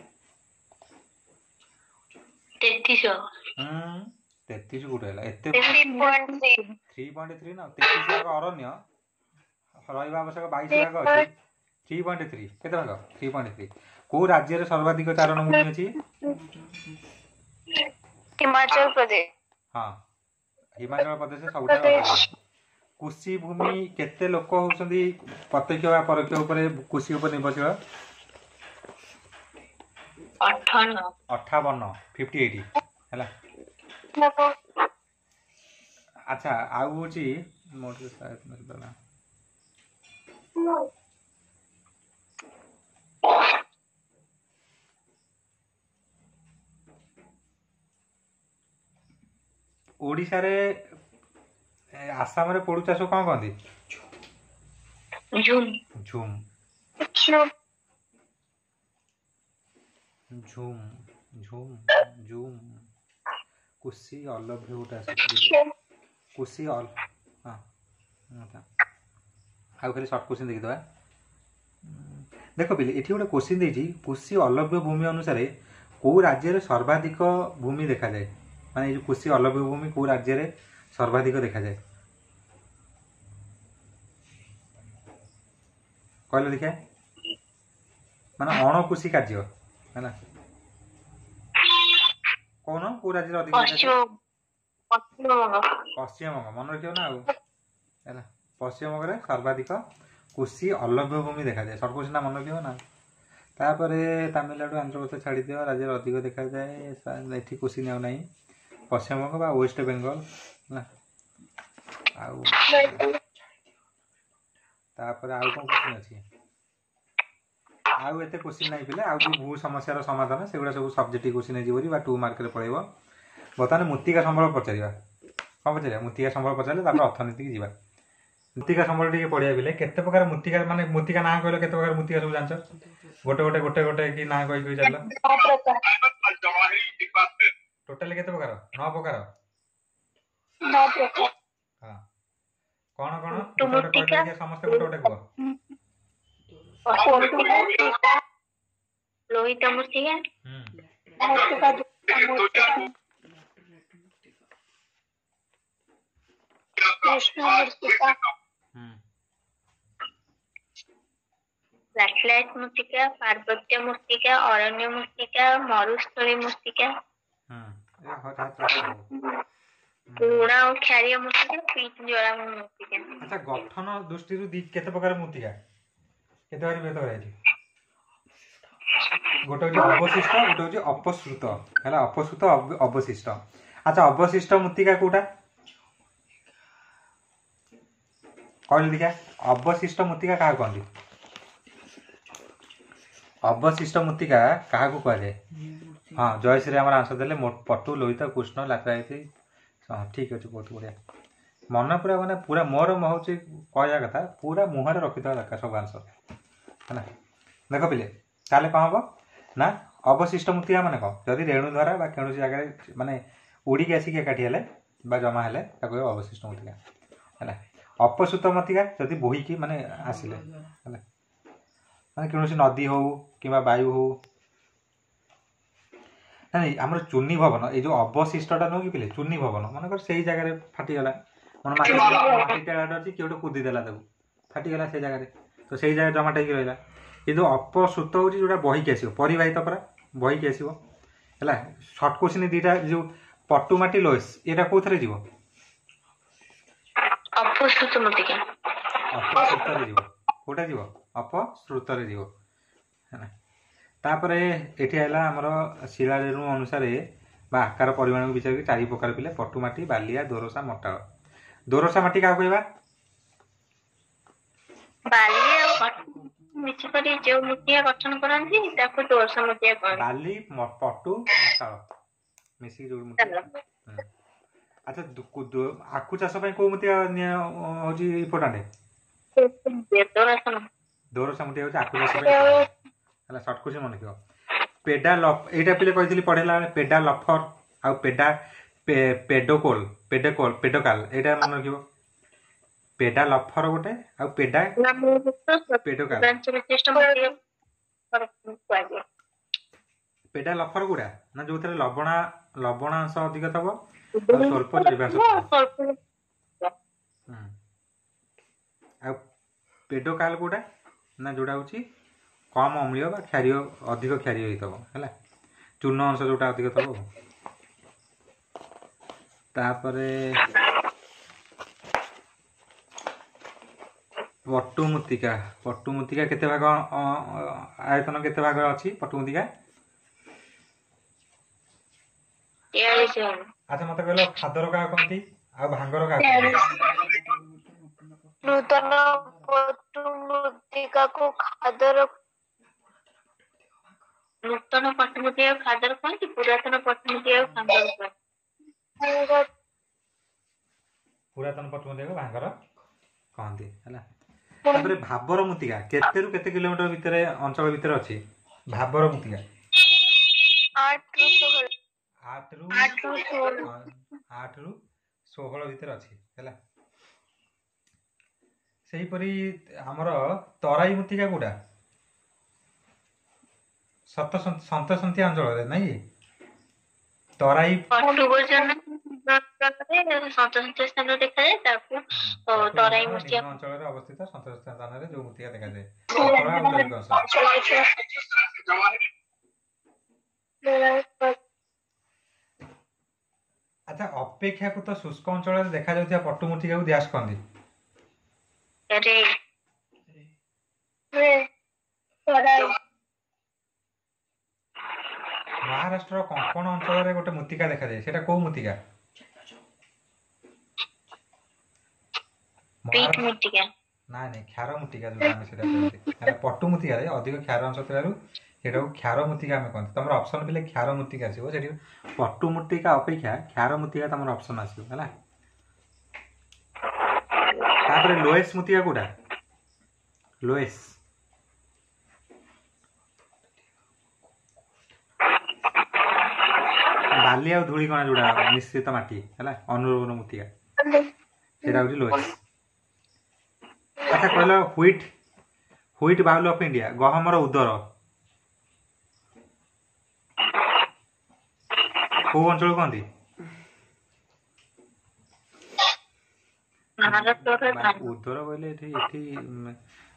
33 ଭାଗ। 33 କୋଉଠି ହେଲା ଏତେ? 3.3। 3.3 ନା, 33 ଭାଗ ଅରଣ୍ୟ ରହିବା ଆବଶ୍ୟକ, 22 ଭାଗ ଅଛି। 3.3 କେତେ ଭାଗ? 3.3। କୋଉ ରାଜ୍ୟରେ ସର୍ବାଧିକ ଚାରଣ ଭୂମି ଅଛି? ହିମାଚଳ ପ୍ରଦେଶ। ହଁ, ହିମାଚଳ ପ୍ରଦେଶ ସବୁଠାରୁ ଅଧିକ। କୃଷି ଭୂମି କେତେ ଲୋକ ହଉଛନ୍ତି ପ୍ରତ୍ୟକ୍ଷ ବା ପରୋକ୍ଷ ଉପରେ କୃଷି ଉପରେ ନିର୍ଭରଶୀଳ? 58। 58, 58 ହେଲା। ଆଚ୍ଛା, ଆଉ ହଉଛି ମୋର। ଓଡ଼ିଶାରେ ଆସାମରେ ପୋଡୁ ଚାଷ କଣ କହନ୍ତି? ଝୁମ୍। ଝୁମ୍। ଝୁମ୍ ଝୁମ୍ ଝୁମ୍। କୃଷି ଅଲଭ୍ୟ ଗୋଟେ ଆସୁଛି, କୃଷି ଅଲ, ହଁ। ଆଉ ଖାଲି ସର୍ଟ କୋଶ୍ଚିନ୍ ଦେଖିଦେବା। ଦେଖ ପିଲେ, ଏଠି ଗୋଟେ କୋଶ୍ଚିନ୍ ଦେଇଛି, କୃଷି ଅଲଭ୍ୟ ଭୂମି ଅନୁସାରେ କେଉଁ ରାଜ୍ୟରେ ସର୍ବାଧିକ ଭୂମି ଦେଖାଯାଏ? ମାନେ ଏଇ ଯେଉଁ କୃଷି ଅଲଭ୍ୟ ଭୂମି କେଉଁ ରାଜ୍ୟରେ ସର୍ବାଧିକ ଦେଖାଯାଏ କହିଲେ ଦେଖିଆ? ମାନେ ଅଣକୃଷି କାର୍ଯ୍ୟ ହେଲା, କହୁନ କୋଉ ରାଜ୍ୟରେ ଅଧିକ ଦେଖାଯାଏ? ପଶ୍ଚିମବଙ୍ଗ। ପଶ୍ଚିମବଙ୍ଗ ମନେ ରଖିବ ନା ଆଉ, ହେଲା। ପଶ୍ଚିମବଙ୍ଗରେ ସର୍ବାଧିକ କୃଷି ଅଲଭ୍ୟ ଭୂମି ଦେଖାଯାଏ। ସର୍ଟ କୋଶ୍ଚିନ୍ ମନେ ରଖିବ ନା। ତାପରେ ତାମିଲନାଡୁ, ଆନ୍ଧ୍ରପ୍ରଦେଶ ଛାଡ଼ିଦିଅ, ରାଜ୍ୟରେ ଅଧିକ ଦେଖାଯାଏ। ଏଠି କୋଶ୍ଚିନ୍ ଆଉ ନାହିଁ। ପଶ୍ଚିମବଙ୍ଗ ବା ୱେଷ୍ଟ ବେଙ୍ଗଲ ହେଲା। ଆଉ ତାପରେ ଆଉ କ'ଣ କୋଶ୍ଚିନ୍ ଅଛି? ଆଉ ଏତେ କୋଶ୍ଚିନ୍ ନାହିଁ ପିଲା। ଆଉ ଯେଉଁ ଭୂ ସମସ୍ୟାର ସମାଧାନ, ସେଗୁଡ଼ା ସବୁ ସବଜେକ୍ଟିଭ କୋଶ୍ଚିନ୍ ହେଇଯିବ ବା 2 ମାର୍କରେ ପଳେଇବ। ବର୍ତ୍ତମାନ ମୃତ୍ତିକା ସମ୍ବଳ ପଚାରିବା। କ'ଣ ପଚାରିବା? ମୃତ୍ତିକା ସମ୍ବଳ ପଚାରିଲେ ତାପରେ ଅର୍ଥନୀତିକି ଯିବା। ମୃତ୍ତିକା ସମ୍ବଳ ଟିକେ ପଢ଼ିବା ପିଲେ। କେତେ ପ୍ରକାର ମୃତ୍ତିକା, ମାନେ ମୃତ୍ତିକା ନାଁ କହିଲ, କେତେ ପ୍ରକାର ମୃତ୍ତିକା ସବୁ ଜାଣିଛ? ଗୋଟେ ଗୋଟେ ଗୋଟେ ଗୋଟେ କି ନାଁ କହି କହି ଚାଲିଲ। ଟୋଟାଲି କେତେ ପ୍ରକାର? 9 ପ୍ରକାର। ହଁ, କ'ଣ କ'ଣ ଗୋଟେ ଗୋଟେ କହିଲେ, ସମସ୍ତେ ଗୋଟେ ଗୋଟେ କୁହ। ଲୋହିତ ମୃତ୍ତିକା, କୃଷ୍ଣ ମୃତ୍ତିକା, ଲାଟଲାଇଟ ମୃତ୍ତିକା, ପାର୍ବତ୍ୟ ମୃତ୍ତିକା, ଅରଣ୍ୟ ମୃତ୍ତିକା, ମରୁସ୍ଥଳୀ ମୃତ୍ତିକା, ଲୁଣା ଓ କ୍ଷାରୀୟ ମୃତ୍ତିକା, ପିଚ ଜଳାଭୂମି ମୃତ୍ତିକା। ଆଚ୍ଛା, ଗଠନ ଦୃଷ୍ଟିରୁ କେତେ ପ୍ରକାର ମୃତ୍ତିକା, କେତେ ଭାଗ ବିଭକ୍ତ କରାଯାଇଛି? ଗୋଟେ ହଉଛି ଅବଶିଷ୍ଟ, ଗୋଟେ ହଉଛି ଅପସୃତ। ହେଲା, ଅପସୃତ, ଅବଶିଷ୍ଟ। ଆଚ୍ଛା, ଅବଶିଷ୍ଟ ମୃତ୍ତିକା କୋଉଟା କହିଲେ ଦେଖିଆ? ଅବଶିଷ୍ଟ ମୃତ୍ତିକା କାହାକୁ କହନ୍ତି? ଅବଶିଷ୍ଟ ମୃତ୍ତିକା କାହାକୁ କୁହାଯାଏ? ହଁ, ଜୟଶ୍ରୀ ଆମର ଆନ୍ସର ଦେଲେ, ପଟୁ, ଲୋହିତ, କୃଷ୍ଣ, ଲାଟରାଇଟ। ହଁ, ଠିକ୍ ଅଛି, ବହୁତ ବଢ଼ିଆ। ମନ ପୁରା ମାନେ ପୁରା ମୋର ହେଉଛି କହିବା କଥା, ପୁରା ମୁହଁରେ ରଖିଦେବା ଦରକାର ସବୁ ଆନ୍ସର, ହେଲା। ଦେଖ ପିଲେ, ତାହେଲେ କ'ଣ ହବ ନା, ଅବଶିଷ୍ଟ ମୃତ୍ତିକା ମାନେ କ'ଣ? ଯଦି ରେଣୁ ଦ୍ୱାରା ବା କୌଣସି ଜାଗାରେ ମାନେ ଉଡ଼ିକି ଆସିକି ଏକାଠି ହେଲେ ବା ଜମା ହେଲେ ତାକୁ ଅବଶିଷ୍ଟ ମୃତ୍ତିକା, ହେଲା। ଅପସୃତ ମୃତ୍ତିକା ଯଦି ବୋହିକି ମାନେ ଆସିଲେ, ହେଲା, ମାନେ କୌଣସି ନଦୀ ହଉ କିମ୍ବା ବାୟୁ ହଉ। ନାଇଁ, ଆମର ଚୁନି ଭବନ, ଏଇ ଯେଉଁ ଅବଶିଷ୍ଟଟା ନୁହଁ କି ପିଲେ, ଚୁନି ଭବନ ମନେକର ସେଇ ଜାଗାରେ ଫାଟିଗଲା, ମାନେ ମାଟି ମାଟି ଟେଳାଟେ ଅଛି, କିଏ ଗୋଟେ କୁଦି ଦେଲା, ତାକୁ ଫାଟିଗଲା ସେଇ ଜାଗାରେ, ତ ସେଇ ଜାଗାରେ ଜମାଟ ହେଇକି ରହିଲା। କିନ୍ତୁ ଅପସୃତ ହେଉଛି ଯେଉଁଟା ବହିକି ଆସିବ, ପରିବାହିତ ପରା ବହିକି ଆସିବ, ହେଲା। ସର୍ଟ କୋଶ୍ଚିନ୍ ଦୁଇଟା, ଯେଉଁ ପଟୁ ମାଟି, ଲୋଏସ୍, ଏଇଟା କୋଉଥିରେ ଯିବ? ଅପସୃତ ମୃତ୍ତିକା। ଅପସୃତରେ ଯିବ। କୋଉଟା ଯିବ? ଅପସୃତରେ ଯିବ, ହେଲା। ତାପରେ ଏଠି ହେଲା ଆମର ଶିଳାରେଣୁ ଅନୁସାରେ ବା ଆକାର ପରିମାଣକୁ ବିଚାର କରି ଚାରି ପ୍ରକାର ପିଲେ, ପଟୁ ମାଟି, ବାଲିଆ, ଦୋରସା, ମଟାଳ। ଦୋରସା ମାଟି କାହାକୁ କହିବା? ବାଲି ଆଉ ମିଶିକରି ଯୋଉ ମୃତ୍ତିକା ଗଠନ କରନ୍ତି ତାକୁ ଦୋରସା ମୃତ୍ତିକା କହନ୍ତି। ବାଲି, ପଟୁ, ମଟାଳ ମିଶିକି ଯୋଉ ମୃତ୍ତିକା। ଆଚ୍ଛା, ଆଖୁ ଚାଷ ପାଇଁ କୋଉ ମୃତ୍ତିକା ହଉଛି ଇମ୍ପୋର୍ଟାଣ୍ଟ? ଦୋରସା। ଦୋରସା ମୃତ୍ତିକା ହଉଛି ଆଖୁ ଚାଷ ପାଇଁ, ହେଲା। ସର୍ଟ କୋଶ୍ଚିନ୍ ମନେ ରଖିବ। ପେଡା ଲଫ, ଏଇଟା ପିଲେ କହିଥିଲି ପଢେଇଲା ବେଳେ, ପେଡା ଲଫର ଆଉ ପେଡା ପେଡୋକୋଲ, ପେଡୋକୋଲ, ପେଡୋକାଲ, ଏଇଟା ମନେ ରଖିବ। ପେଡା ଲଫର ଗୋଟେ ଆଉ ପେଡା ପେଡୋକାଲ। ପେଡା ଲଫର ଗୁଡା ନା ଯୋଉଥିରେ ଲବଣାଂଶ ଅଧିକ ଥବ ଆଉ ସ୍ୱଳ୍ପ ଜୈବାଂଶ ଥିବ। ଆଉ ପେଡୋକାଲ କୋଉଟା ନା ଯୋଉଟା ହଉଛି କମ୍ ଅମ୍ଳୀୟ ବା କ୍ଷାରୀୟ, ଅଧିକ କ୍ଷାରୀୟ ହେଇଥିବ, ହେଲା, ଚୂନ ଅଂଶ ଯୋଉଟା ଅଧିକ ଥିବ। ତାପରେ ପଟୁ ମୃତ୍ତିକା। ପଟୁ ମୃତ୍ତିକା କେତେ ଭାଗ, ଆୟତନ କେତେ ଭାଗ ଅଛି ପଟୁ ମୃତ୍ତିକା? ଆଚ୍ଛା, ମତେ କହିଲ ଖାଦର କାହା କହନ୍ତି ଆଉ ଭାଙ୍ଗର କାହା କହନ୍ତି? ନୂତନ ପଟୁ ମୃତ୍ତିକାକୁ ଖାଦର। ନୂତନ ପଟମୂର୍ତ୍ତିକାକୁ ଖାଦର କୁହନ୍ତି, ପୁରାତନ ପଟମୂର୍ତ୍ତିକାକୁ ଭାଙ୍ଗର କୁହନ୍ତି। ପୁରାତନ ପଟମୂର୍ତ୍ତିକାକୁ ଭାଙ୍ଗର କହନ୍ତି, ହେଲା। ତାପରେ ଭାବର ମୃତ୍ତିକା କେତେରୁ କେତେ କିଲୋମିଟର ଭିତରେ ଅଞ୍ଚଳ ଭିତରେ ଅଛି ଭାବର ମୃତ୍ତିକା? 8ରୁ 16। 8ରୁ 8ରୁ 16। 8ରୁ 16 ଭିତରେ ଅଛି, ହେଲା। ସେହିପରି ଆମର ତରାଇ ମୃତ୍ତିକା କୋଉଟା? ସତ ସନ୍ତସନ୍ତିଆ ଅଞ୍ଚଳରେ ନାଇଁ କି ତରାଇ? ପଟୁବର୍ଜନ ସନ୍ତସନ୍ତିଆ ସ୍ଥାନରେ ଦେଖାଯାଏ, ତାକୁ ତରାଇ ପଟୁବର୍ଜନ ମୃତ୍ତିକା। ନିମ୍ନ ଅଞ୍ଚଳରେ ଅବସ୍ଥିତ ସନ୍ତସନ୍ତିଆ ସ୍ଥାନରେ ଯୋଉ ମୃତ୍ତିକା ଦେଖାଯାଏ, ପତଳା ଆଉ ଜୈବିକ ଅଂଶ। ଆଚ୍ଛା, ଅପେକ୍ଷାକୃତ ଶୁଷ୍କ ଅଞ୍ଚଳରେ ଦେଖାଯାଉଥିବା ପଟୁ ମୃତ୍ତିକାକୁ ଡ୍ୟାସ୍ କହନ୍ତି। ରେ ମହାରାଷ୍ଟ୍ରର କଙ୍କଣ ଅଞ୍ଚଳରେ ଗୋଟେ ମୃତ୍ତିକା ଦେଖାଯାଏ, ସେଇଟା କୋଉ ମୃତ୍ତିକା? ପିଟ୍ ମହାରାଷ୍ଟ୍ର ମୃତ୍ତିକା। ନାଇଁ ନାଇଁ, କ୍ଷାର ମୃତ୍ତିକା ଯୋଉଟା ଆମେ ସେଇଟା କୁହନ୍ତି, ହେଲା। ପଟୁ ମୃତ୍ତିକାରେ ଅଧିକ କ୍ଷାର ଅଂଶ ଥିବାରୁ ସେଇଟାକୁ କ୍ଷାର ମୃତ୍ତିକା ଆମେ କହନ୍ତି। ତମର ଅପସନ୍ ପିଲେ କ୍ଷାର ମୃତ୍ତିକା ଆସିବ ସେଠି, ପଟୁ ମୃତ୍ତିକା ଅପେକ୍ଷା କ୍ଷାର ମୃତ୍ତିକା ତମର ଅପସନ୍ ଆସିବ, ହେଲା। ତାପରେ ଲୋଏସ୍ ମୃତ୍ତିକା କୋଉଟା? ଲୋଏସ୍ ବାଲି ଆଉ ଧୂଳିକଣା ଯୋଉଟା ମିଶ୍ରିତ ମାଟି, ହେଲା, ଅନୁର୍ବର ମୃତ୍ତିକା, ସେଇଟା ହଉଛି ଲୋଏସ୍। ଆଚ୍ଛା କହିଲ, ହ୍ୱିଟ୍ ବାଉଲ ଅଫ୍ ଇଣ୍ଡିଆ, ଗହମର ଉଦର କୋଉ ଅଞ୍ଚଳ କହନ୍ତି? ଭାରତର ମାନେ ଧାନ। ଉଦର କହିଲେ ଏଠି ଏଠି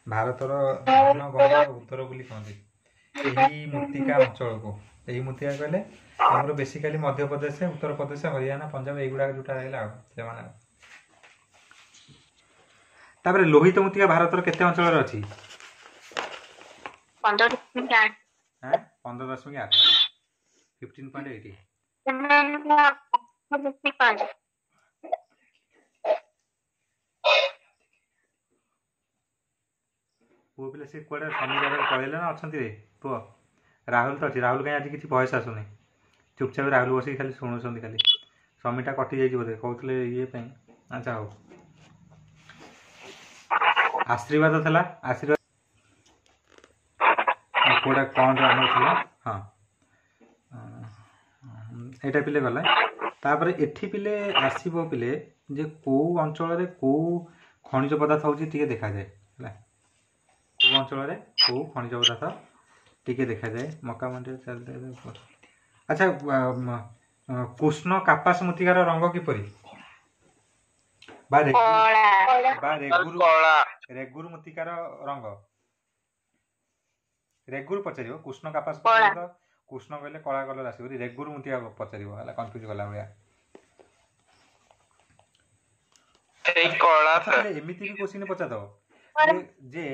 ଭାରତର ଧାନ ଗହମର ଉଦର ବୋଲି କହନ୍ତି ଏହି ମୃତ୍ତିକା ଅଞ୍ଚଳକୁ। ଏହି ମୃତ୍ତିକା କହିଲେ ଆମର ବେସିକାଲି ମଧ୍ୟପ୍ରଦେଶ, ଉତ୍ତରପ୍ରଦେଶ, ହରିୟାଣା, ପଞ୍ଜାବ ଏଇଗୁଡାକ ଯୋଉଟା ରହିଲା ଆଉ ସେମାନେ। ତାପରେ ଲୋହିତ ମୃତ୍ତିକା ଭାରତର କେତେ ଅଞ୍ଚଳରେ ଅଛି? 15.8। 15.8, 15.8। 5। ପୁଅ ପିଲା ସେ କୁଆଡ଼େ ଶନିବାର ପଳେଇଲେ ନା ଅଛନ୍ତି ରେ ପୁଅ? ରାହୁଲ ତ ଅଛି, ରାହୁଲ କାହିଁ ଆଜି କିଛି ଭଏସ୍ ଆସୁନି? ଚୁପଚାପ ରାହୁଲ ବସିକି ଖାଲି ଶୁଣୁଛନ୍ତି ଖାଲି। ସମିଟା କଟି ଯାଇଛି ବୋଧେ କହୁଥିଲେ ଇଏ ପାଇଁ। ଆଚ୍ଛା ହଉ। ଆଶୀର୍ବାଦ ଥିଲା, ଆଶୀର୍ବାଦ କୋଉଟା କ'ଣ ଆମର ଥିଲା? ହଁ, ଏଇଟା ପିଲେ ଗଲା। ତାପରେ ଏଠି ପିଲେ ଆସିବ ପିଲେ ଯେ କୋଉ ଅଞ୍ଚଳରେ କୋଉ ଖଣିଜ ପଦାର୍ଥ ହେଉଛି ଟିକେ ଦେଖାଯାଏ, ହେଲା। କୋଉ ଅଞ୍ଚଳରେ କୋଉ ଖଣିଜ ପଦାର୍ଥ ଟିକେ ଦେଖାଯାଏ। ମକା ମଣ୍ଡିରେ ଚାଲିଥାଏ। ଆଚ୍ଛା, କୃଷ୍ଣ କାପାସ ମୃତ୍ତିକାର ରଙ୍ଗ କିପରି? ବା ରେଗୁରୁ କଳା। ବା ରେଗୁରୁ କଳା। ରେଗୁରୁ ମୃତ୍ତିକାର ରଙ୍ଗ ରେଗୁରୁ ପଚାରିବ। କୃଷ୍ଣ କାପାସ କଳା। ପଚାରିବ ତ କୃଷ୍ଣ କହିଲେ କଳା କଲର ଆସିବ, ରେଗୁରୁ ମୃତ୍ତିକା ପଚାରିବ, ହେଲା, କନଫ୍ୟୁଜ କଲା ଭଳିଆ। ସେଇ କଳା ଆଚ୍ଛା ସାର୍। ପିଲେ ଏମିତି ବି କୋଶ୍ଚିନ୍ ପଚାରିଦବ ଯେ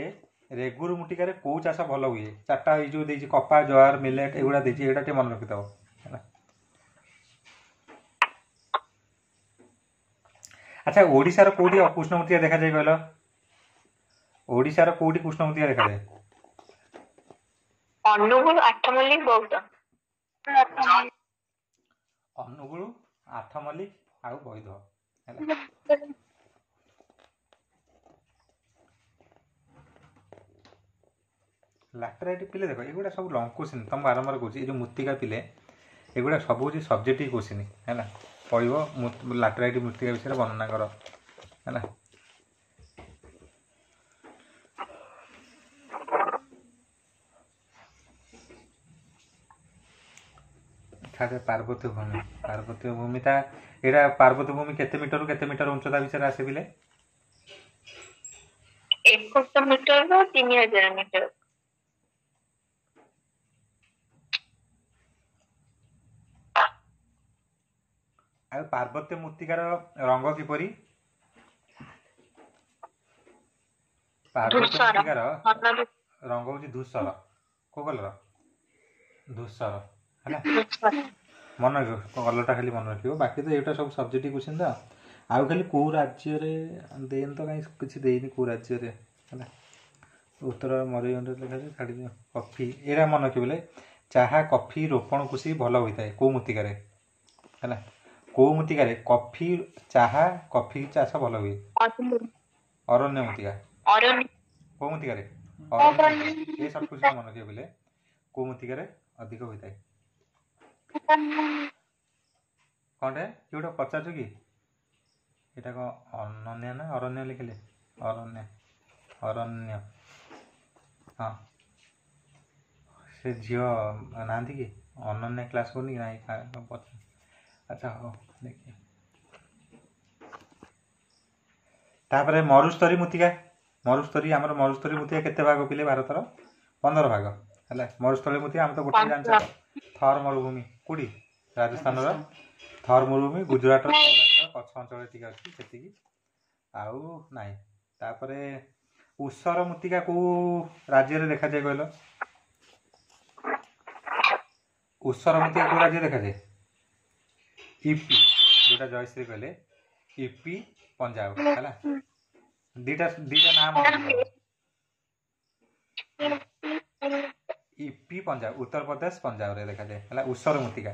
ରେଗୁରୁ ମୃତ୍ତିକାରେ କୋଉ ଚାଷ ଭଲ ହୁଏ? ଚାରିଟା ଏଇ ଯୋଉ ଦେଇଛି କପା, ଜୁଆର, ମିଲେଟ ଏଗୁଡ଼ା ଦେଇଛି, ଏଇଟା ଟିକେ ମନେ ରଖିଦବ, ହେଲା। ଆଚ୍ଛା, ଓଡ଼ିଶାର କୋଉଠି କୃଷ୍ଣ ମୃତ୍ତିକା ଦେଖାଯାଏ କହିଲ? ଓଡ଼ିଶାର କୋଉଠି କୃଷ୍ଣ ମୃତ୍ତିକା ଦେଖାଯାଏ? ଅନୁଗୁଳ, ଆଠମଲ୍ଲିକ, ବୌଦ୍ଧ। ଅନୁଗୁଳ, ଆଠମଲ୍ଲିକ ଆଉ ବୈଧ, ହେଲା। ଲାଟେରାଇଟ୍ ପିଲେ ଦେଖ, ଏଗୁଡ଼ା ସବୁ ଲଙ୍ଗ କୋଶ୍ଚିନ୍ ତମକୁ ବାରମ୍ବାର କହୁଛି। ଏଇ ଯେଉଁ ମୃତ୍ତିକା ପିଲେ ଏଗୁଡ଼ା ସବୁ ହେଉଛି ସବଜେକ୍ଟିଭ କୋଶ୍ଚିନ୍, ହେଲା। ପଡ଼ିବ ଲାଟେରାଇଟ୍ ମୃତ୍ତିକା ବିଷୟରେ ବର୍ଣ୍ଣନା କର, ହେଲା। ଆଚ୍ଛା, ପାର୍ବତ୍ୟ ଭୂମି, ପାର୍ବତ୍ୟ ଭୂମିଟା ଏଇଟା ପାର୍ବତ୍ୟ ଭୂମି କେତେ ମିଟରରୁ କେତେ ମିଟର ଉଚ୍ଚତା ବିଷୟରେ ଆସେ ପିଲେ? 21 ମିଟରରୁ 3000 ମିଟର। ଆଉ ପାର୍ବତ୍ୟ ମୃତ୍ତିକାର ରଙ୍ଗ କିପରି? ପାର୍ବତ୍ୟ ଧୂସର। ମୃତ୍ତିକାର ଘନ ରଙ୍ଗ ହେଉଛି ଧୂସର। କୋଉ କଲର? ଧୂସର, ହେଲା। ଧୂସର। ମନେ ରଖିବ କଲରଟା, ଖାଲି ମନେ ରଖିବ। ବାକି ତ ଏଇଟା ସବୁ ସବଜେକ୍ଟିଭ କୋଶ୍ଚିନ୍ ତ। ଆଉ ଖାଲି କେଉଁ ରାଜ୍ୟରେ ଦେଇନି ତ, କାହିଁ କିଛି ଦେଇନି କେଉଁ ରାଜ୍ୟରେ ହେଲା। ଉତ୍ତର ମୟୂରଭଞ୍ଜରେ ଲେଖାଯାଏ, ଛାଡ଼ିଦିଅ। କଫି ଏଇଟା ମନେ ରଖିବ ବୋଲେ, ଚାହା କଫି ରୋପଣ କୃଷି ଭଲ ହୋଇଥାଏ କେଉଁ ମୃତ୍ତିକାରେ ହେଲା? କେଉଁ ମୃତ୍ତିକାରେ କଫି, ଚାହା କଫି ଚାଷ ଭଲ ହୁଏ? ଅରଣ୍ୟ ମୃତ୍ତିକା। କେଉଁ ମୃତ୍ତିକାରେ? ଅରଣ୍ୟ ମୃତ୍ତିକା। ଏ ସର୍ଟ କ୍ୱେଶ୍ଚନ ମନେ ରଖିବ ବୋଲେ, କେଉଁ ମୃତ୍ତିକାରେ ଅଧିକ ହୋଇଥାଏ? କ'ଣଟେ କିଏ ଗୋଟେ ପଚାରୁଛୁ କି? ଏଇଟା କ'ଣ ଅନନ୍ୟା ନା ଅରଣ୍ୟ ଲେଖିଲେ? ଅରଣ୍ୟ, ଅରଣ୍ୟ, ହଁ। ସେ ଝିଅ ନାହାନ୍ତି କି? ଅନନ୍ୟା କ୍ଲାସ୍ କରୁନି କି? ନାହିଁ। ଆଚ୍ଛା ହଉ, ଦେଖିବା। ତାପରେ ମରୁସ୍ତରୀ ମୃତ୍ତିକା। ମରୁସ୍ତରୀ, ଆମର ମରୁସ୍ତରୀ ମୃତ୍ତିକା କେତେ ଭାଗ ପିଲେ ଭାରତର? 15 ଭାଗ ହେଲା ମରୁସ୍ଥଳୀ ମୃତ୍ତିକା। ଆମେ ତ ଗୋଟେ ଜାଣିଛ, ଥର ମରୁଭୂମି। କୋଉଠି? ରାଜସ୍ଥାନର ଥର ମରୁଭୂମି, ଗୁଜୁରାଟର ସୌରାଷ୍ଟ୍ର କଚ୍ଛ ଅଞ୍ଚଳରେ ଟିକେ ଅଛି, ସେତିକି, ଆଉ ନାହିଁ। ତାପରେ ଉଷର ମୃତ୍ତିକା କୋଉ ରାଜ୍ୟରେ ଦେଖାଯାଏ କହିଲ? ଉଷର ମୃତ୍ତିକା କୋଉ ରାଜ୍ୟରେ ଦେଖାଯାଏ? ୟୁପି, ଯୋଉଟା ଜୟଶ୍ରୀ କହିଲେ, ୟୁପି, ପଞ୍ଜାବ ହେଲା। ଦିଟା ଦିଟା ନାଁ ମନେ ରଖିବ, ୟୁପି ପଞ୍ଜାବ, ଉତ୍ତରପ୍ରଦେଶ ପଞ୍ଜାବରେ ଦେଖାଯାଏ ହେଲା ଉଷର ମୃତ୍ତିକା।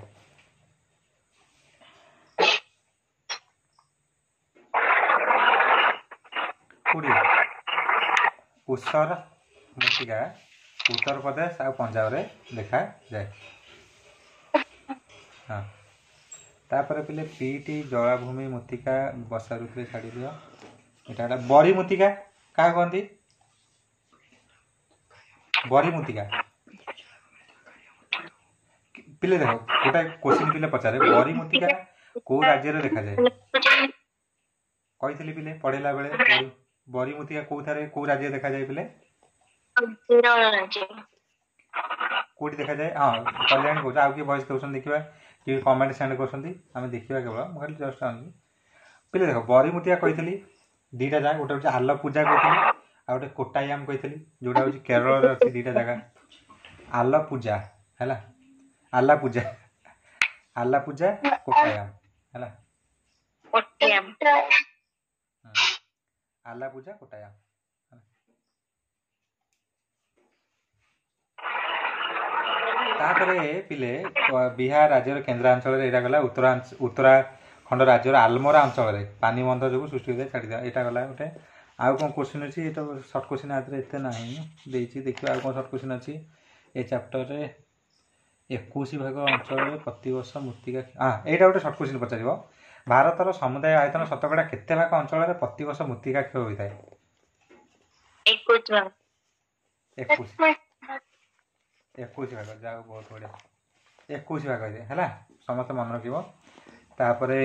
କୋଉଠି ଉଷର ମୃତ୍ତିକା? ଉତ୍ତରପ୍ରଦେଶ ଆଉ ପଞ୍ଜାବରେ ଦେଖାଯାଏ। ହଁ, ତାପରେ ପିଲେ ପିଟି ଜଳାଭୂମି ମୃତ୍ତିକା ବର୍ଷା ଋତୁରେ, ଛାଡ଼ିଦିଅ। ଏଇଟା ହେଲା ବରି ମୃତ୍ତିକା। କାହା କହନ୍ତି ବରି ମୃତ୍ତିକା? ପିଲେ ଦେଖ, ଗୋଟେ କୋଶ୍ଚିନ୍ ପିଲେ ପଚାରେ, ବରି ମୃତ୍ତିକା କୋଉ ରାଜ୍ୟରେ ଦେଖାଯାଏ? କହିଥିଲି ପିଲେ ପଢେଇଲା ବେଳେ, ବରି ମୃତ୍ତିକା କୋଉଠାରେ, କୋଉ ରାଜ୍ୟରେ ଦେଖାଯାଏ ପିଲେ? କୋଉଠି ଦେଖାଯାଏ? ହଁ, କଲ୍ୟାଣୀ କହୁଛ, ଆଉ କିଏ ଭଏସ୍ ଦେଉଛନ୍ତି ଦେଖିବା, କିଏ କମେଣ୍ଟ ସେଣ୍ଡ କରୁଛନ୍ତି ଆମେ ଦେଖିବା। କେବଳ ମୁଁ ଖାଲି ଜଷ୍ଟ ଆଣୁଛି। ପିଲେ ଦେଖ, ବରି ମୃତ୍ତିକା କହିଥିଲି ଦିଟା ଜାଗା, ଗୋଟେ ହେଉଛି ଆଲପୂଜା କହିଥିଲି, ଆଉ ଗୋଟେ କୋଟାୟାମ କହିଥିଲି, ଯୋଉଟା ହେଉଛି କେରଳରେ ଅଛି। ଦିଟା ଜାଗା, ଆଲପୂଜା ହେଲା, ଆଲାପୂଜା, ଆଲାପୂଜା, କୋଟାୟାମ ହେଲା। ଆଲାପୂଜା, କୋଟାୟାମ। ତାପରେ ପିଲେ ବିହାର ରାଜ୍ୟର କେନ୍ଦ୍ରାଞ୍ଚଳରେ ଏଇଟା ଗଲା। ଉତ୍ତରାଖଣ୍ଡ ରାଜ୍ୟର ଆଲମୋରା ଅଞ୍ଚଳରେ ପାନିବନ୍ଧ ଯୋଗୁଁ ସୃଷ୍ଟି ହୋଇଥାଏ, ଛାଡ଼ିଦିଅ। ଏଇଟା ଗଲା ଗୋଟେ। ଆଉ କ'ଣ କୋଶ୍ଚିନ୍ ଅଛି? ଏଇଟା ସର୍ଟ କୋଶ୍ଚିନ୍ ଆଥିରେ ଏତେ ନାହିଁ ଦେଇଛି। ଦେଖିବା ଆଉ କ'ଣ ସର୍ଟ କୋଶ୍ଚିନ୍ ଅଛି ଏ ଚାପ୍ଟରରେ। 21 ଭାଗ ଅଞ୍ଚଳରେ ପ୍ରତିବର୍ଷ ମୃତ୍ତିକା। ହଁ, ଏଇଟା ଗୋଟେ ସର୍ଟ କୋଶ୍ଚିନ୍ ପଚାରିବ। ଭାରତର ସମୁଦାୟ ଆୟତନ ଶତକଡ଼ା କେତେ ଭାଗ ଅଞ୍ଚଳରେ ପ୍ରତିବର୍ଷ ମୃତ୍ତିକା କ୍ଷୟ ହୋଇଥାଏ? 21, 21 ଭାଗ। ଯାଉ, ବହୁତ ବଢ଼ିଆ। 21 ଭାଗ ହେଇଥାଏ ହେଲା, ସମସ୍ତେ ମନେ ରଖିବ। ତାପରେ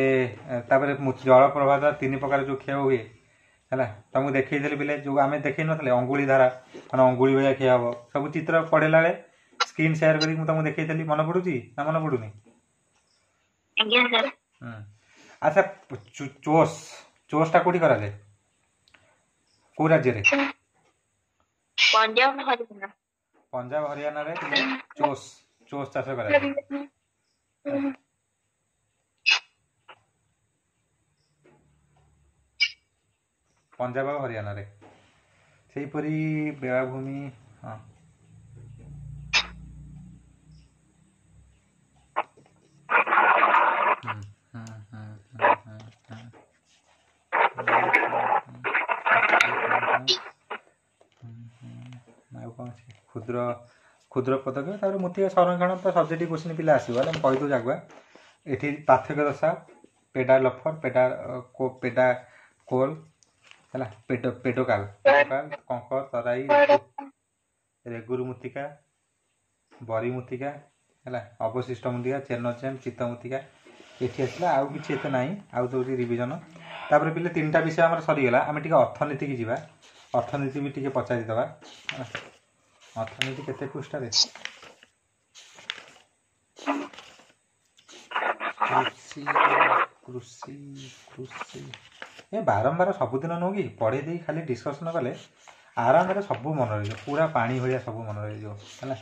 ତାପରେ ଜଳପ୍ରବାହ ଦ୍ୱାରା ତିନି ପ୍ରକାର ଯେଉଁ କ୍ଷୟ ହୁଏ ହେଲା, ତମକୁ ଦେଖେଇଥିଲି ପିଲେ, ଯେଉଁ ଆମେ ଦେଖେଇ ନଥିଲେ ଅଙ୍ଗୁଳି ଧାରା, ମାନେ ଅଙ୍ଗୁଳି ଭଳିଆ କ୍ଷୟ ହବ, ସବୁ ଚିତ୍ର ପଢ଼େଇଲା ବେଳେ ସ୍କ୍ରିନ୍ ସେୟାର କରିକି ମୁଁ ତମକୁ ଦେଖେଇଥିଲି। ମନେ ପଡୁଛି ନା ମନେ ପଡୁନି? ଆଚ୍ଛା, ଚୋସ୍, ଚୋସ୍ଟା କୋଉଠି କରାଯାଏ, କୋଉ ରାଜ୍ୟରେ? ପଞ୍ଜାବ, ହରିୟାଣା। ପଞ୍ଜାବ ହରିୟାଣାରେ ଚୋସ୍, ଚୋସ୍ ଚାଷ କରାଯାଏ। ପଞ୍ଜାବ ଆଉ ହରିୟାଣାରେ। ସେହିପରି ବେଳାଭୂମି, ହଁ। ଆଉ କ'ଣ ଅଛି? କ୍ଷୁଦ୍ର କ୍ଷୁଦ୍ର ପଦକ୍ଷେପ, ତାପରେ ମୃତ୍ତିକା ସଂରକ୍ଷଣ ତ ସବଜେକ୍ଟ କୋଶ୍ଚିନ୍ ପିଲା ଆସିବ ହେଲା, ମୁଁ କହିଦେଉଛି ଆଗୁଆ। ଏଠି ପାର୍ଥକ୍ୟ ଦଶା, ପେଡା ଲଫର, ପେଡା ପେଡା କୋଲ ହେଲା, ପେଡୋକାଲ, ପେଡୋକାଲ, କଙ୍କର, ତରାଇ, ରେଗୁରୁ ମୃତ୍ତିକା, ବରି ମୃତ୍ତିକା ହେଲା, ଅବଶିଷ୍ଟ ମୃତ୍ତିକା, ଚେନଚେନ୍, ଚିତ୍ତ ମୃତ୍ତିକା ଏଠି ଆସିଲା। ଆଉ କିଛି ଏତେ ନାହିଁ, ଆଉ ଦେଉଛି ରିଭିଜନ। ତାପରେ ପିଲେ ତିନିଟା ବିଷୟ ଆମର ସରିଗଲା। ଆମେ ଟିକେ ଅର୍ଥନୀତିକି ଯିବା, ଅର୍ଥନୀତି ବି ଟିକେ ପଚାରିଦେବା। ଅର୍ଥନୀତି କେତେ ପୃଷ୍ଠାରେ? କୃଷି, କୃଷି, କୃଷି। ଏ ବାରମ୍ବାର ସବୁଦିନ ନୁହଁ କି ପଢ଼େଇ ଦେଇ ଖାଲି ଡିସ୍କସନ୍ କଲେ ଆରାମରେ ସବୁ ମନେ ରହିଯିବ, ପୁରା ପାଣି ଭଳିଆ ସବୁ ମନେ ରହିଯିବ ହେଲା।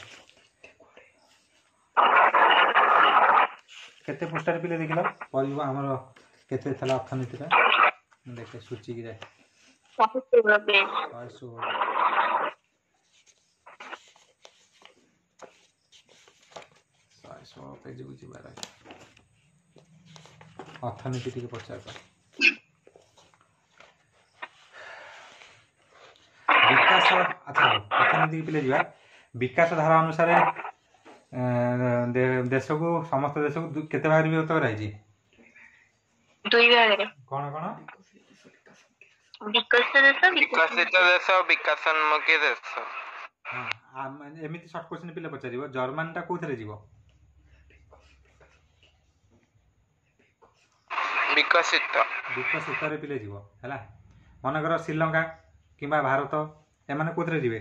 କେତେ ପୃଷ୍ଠାରେ ପିଲେ ଦେଖିଲ ପରିବ ଆମର କେତେ ଥିଲା ଅର୍ଥନୀତିଟା? ମୁଁ ଦେଖେ ସୂଚିକି ଯାଏ। 116 ପେଜ। 116। 116 ପେଜକୁ ଯିବାର ଅଛି। ଅର୍ଥନୀତି ଟିକେ ପଚାରିବା। ବିକାଶ, ଆଚ୍ଛା ହଉ, ଅର୍ଥନୀତି ପିଲେ ଯିବା। ବିକାଶ ଧାରା ଅନୁସାରେ ଦେଶକୁ, ସମସ୍ତ ଦେଶକୁ କେତେ ଭାଗରେ ବିଭକ୍ତ କରାଯାଇଛି? ଦୁଇ ଭାଗରେ। କଣ କଣ? ବିକଶିତ ଦେଶ, ବିକଶିତ ଦେଶ, ବିକାଶୋନ୍ମୁଖୀ ଦେଶ। ହଁ, ଏମିତି ସର୍ଟ କ୍ୱେଶ୍ଚନ ପିଲା ପଚାରିବ। ଜର୍ମାନୀଟା କୋଉଥିରେ ଯିବ? ବିକଶିତ। ବିକଶିତରେ ପିଲେ ଯିବ। ହେଲା, ମନେକର ଶ୍ରୀଲଙ୍କା କିମ୍ବା ଭାରତ, ଏମାନେ କୋଉଥିରେ ଯିବେ?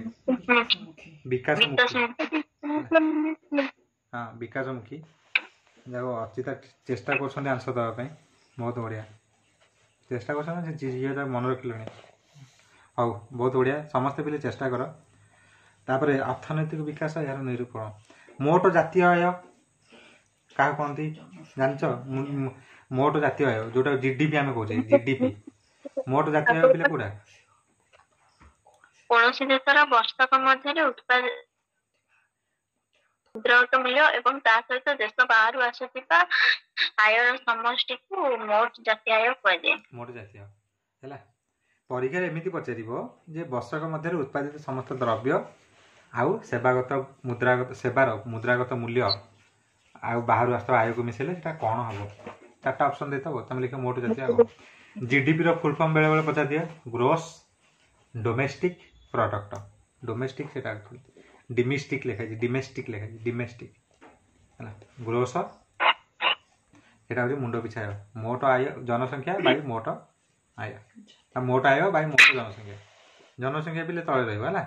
ବିକାଶମୁଖୀ। ହଁ, ବିକାଶମୁଖୀ। ଯାକ ଅଚିତା ଚେଷ୍ଟା କରୁଛନ୍ତି ଆନ୍ସର ଦେବା ପାଇଁ, ବହୁତ ବଢ଼ିଆ ଚେଷ୍ଟା କରୁଛନ୍ତି। ସେ ଝିଅ ଯାକ ମନେ ରଖିଲେଣି। ହଉ, ବହୁତ ବଢ଼ିଆ, ସମସ୍ତେ ପିଲେ ଚେଷ୍ଟା କର। ତାପରେ ଅର୍ଥନୈତିକ ବିକାଶ, ଏହାର ନିରୂପଣ। ମୋଟ ଜାତୀୟ ଆୟ କାହାକୁ କହନ୍ତି ଜାଣିଛ? ମୋଟ ଜାତୀୟ ଆୟ ଯୋଉଟା ଜିଡିପି ଆମେ କହୁଛେ, ଜିଡିପି, ମୋଟ ଜାତୀୟ ଆୟ ପିଲେ କୋଉଟା? କୌଣସି ଦେଶର ବର୍ଷକ ମଧ୍ୟରେ ଉତ୍ପାଦିତ ମୂଲ୍ୟ ଏବଂ ତା ସହିତ ଦେଶ ବାହାରୁ ଆସୁଥିବା ଆୟର ସମଷ୍ଟିକୁ ମୋଟ ଜାତୀୟ ଆୟ କୁହାଯାଏ। ମୋଟ ଜାତୀୟ ହେଲା। ପରୀକ୍ଷାରେ ଏମିତି ପଚାରିବ ଯେ ବର୍ଷକ ମଧ୍ୟରେ ଉତ୍ପାଦିତ ସମସ୍ତ ଦ୍ରବ୍ୟ ଆଉ ସେବାଗତ ମୁଦ୍ରାଗତ ସେବାର ମୁଦ୍ରାଗତ ମୂଲ୍ୟ ଆଉ ବାହାରୁ ଆସୁଥିବା ଆୟକୁ ମିଶେଇଲେ ସେଟା କ'ଣ ହବ? ଚାରିଟା ଅପସନ୍ ଦେଇଥିବ, ତମେ ଲେଖିବ ମୋଟ ଜାତୀୟ ଆୟ। ଜିଡିପିର ଫୁଲ୍ ଫର୍ମ ବେଳେବେଳେ ପଚାରି ଦିଏ, ଗ୍ରୋସ୍ ଡୋମେଷ୍ଟିକ୍ ପ୍ରଡକ୍ଟ। ଡୋମେଷ୍ଟିକ୍ ସେଟା ଆକ୍ଚୁଆଲି ଡିମିଷ୍ଟିକ୍ ଲେଖା ହେଇଛି, ଡିମେଷ୍ଟିକ୍ ଲେଖା ହେଇଛି, ଡିମେଷ୍ଟିକ୍ ହେଲା। ଗ୍ରୋସ ସେଟା ହେଉଛି ମୁଣ୍ଡ ପିଛା ଆୟ, ମୋଟ ଆୟ ଜନସଂଖ୍ୟା ବାଇ ମୋଟ ଆୟ, ମୋଟ ଆୟ ବାଇ ମୋଟ ଜନସଂଖ୍ୟା। ଜନସଂଖ୍ୟା ପିଲେ ତଳେ ରହିବ। ହେଲା,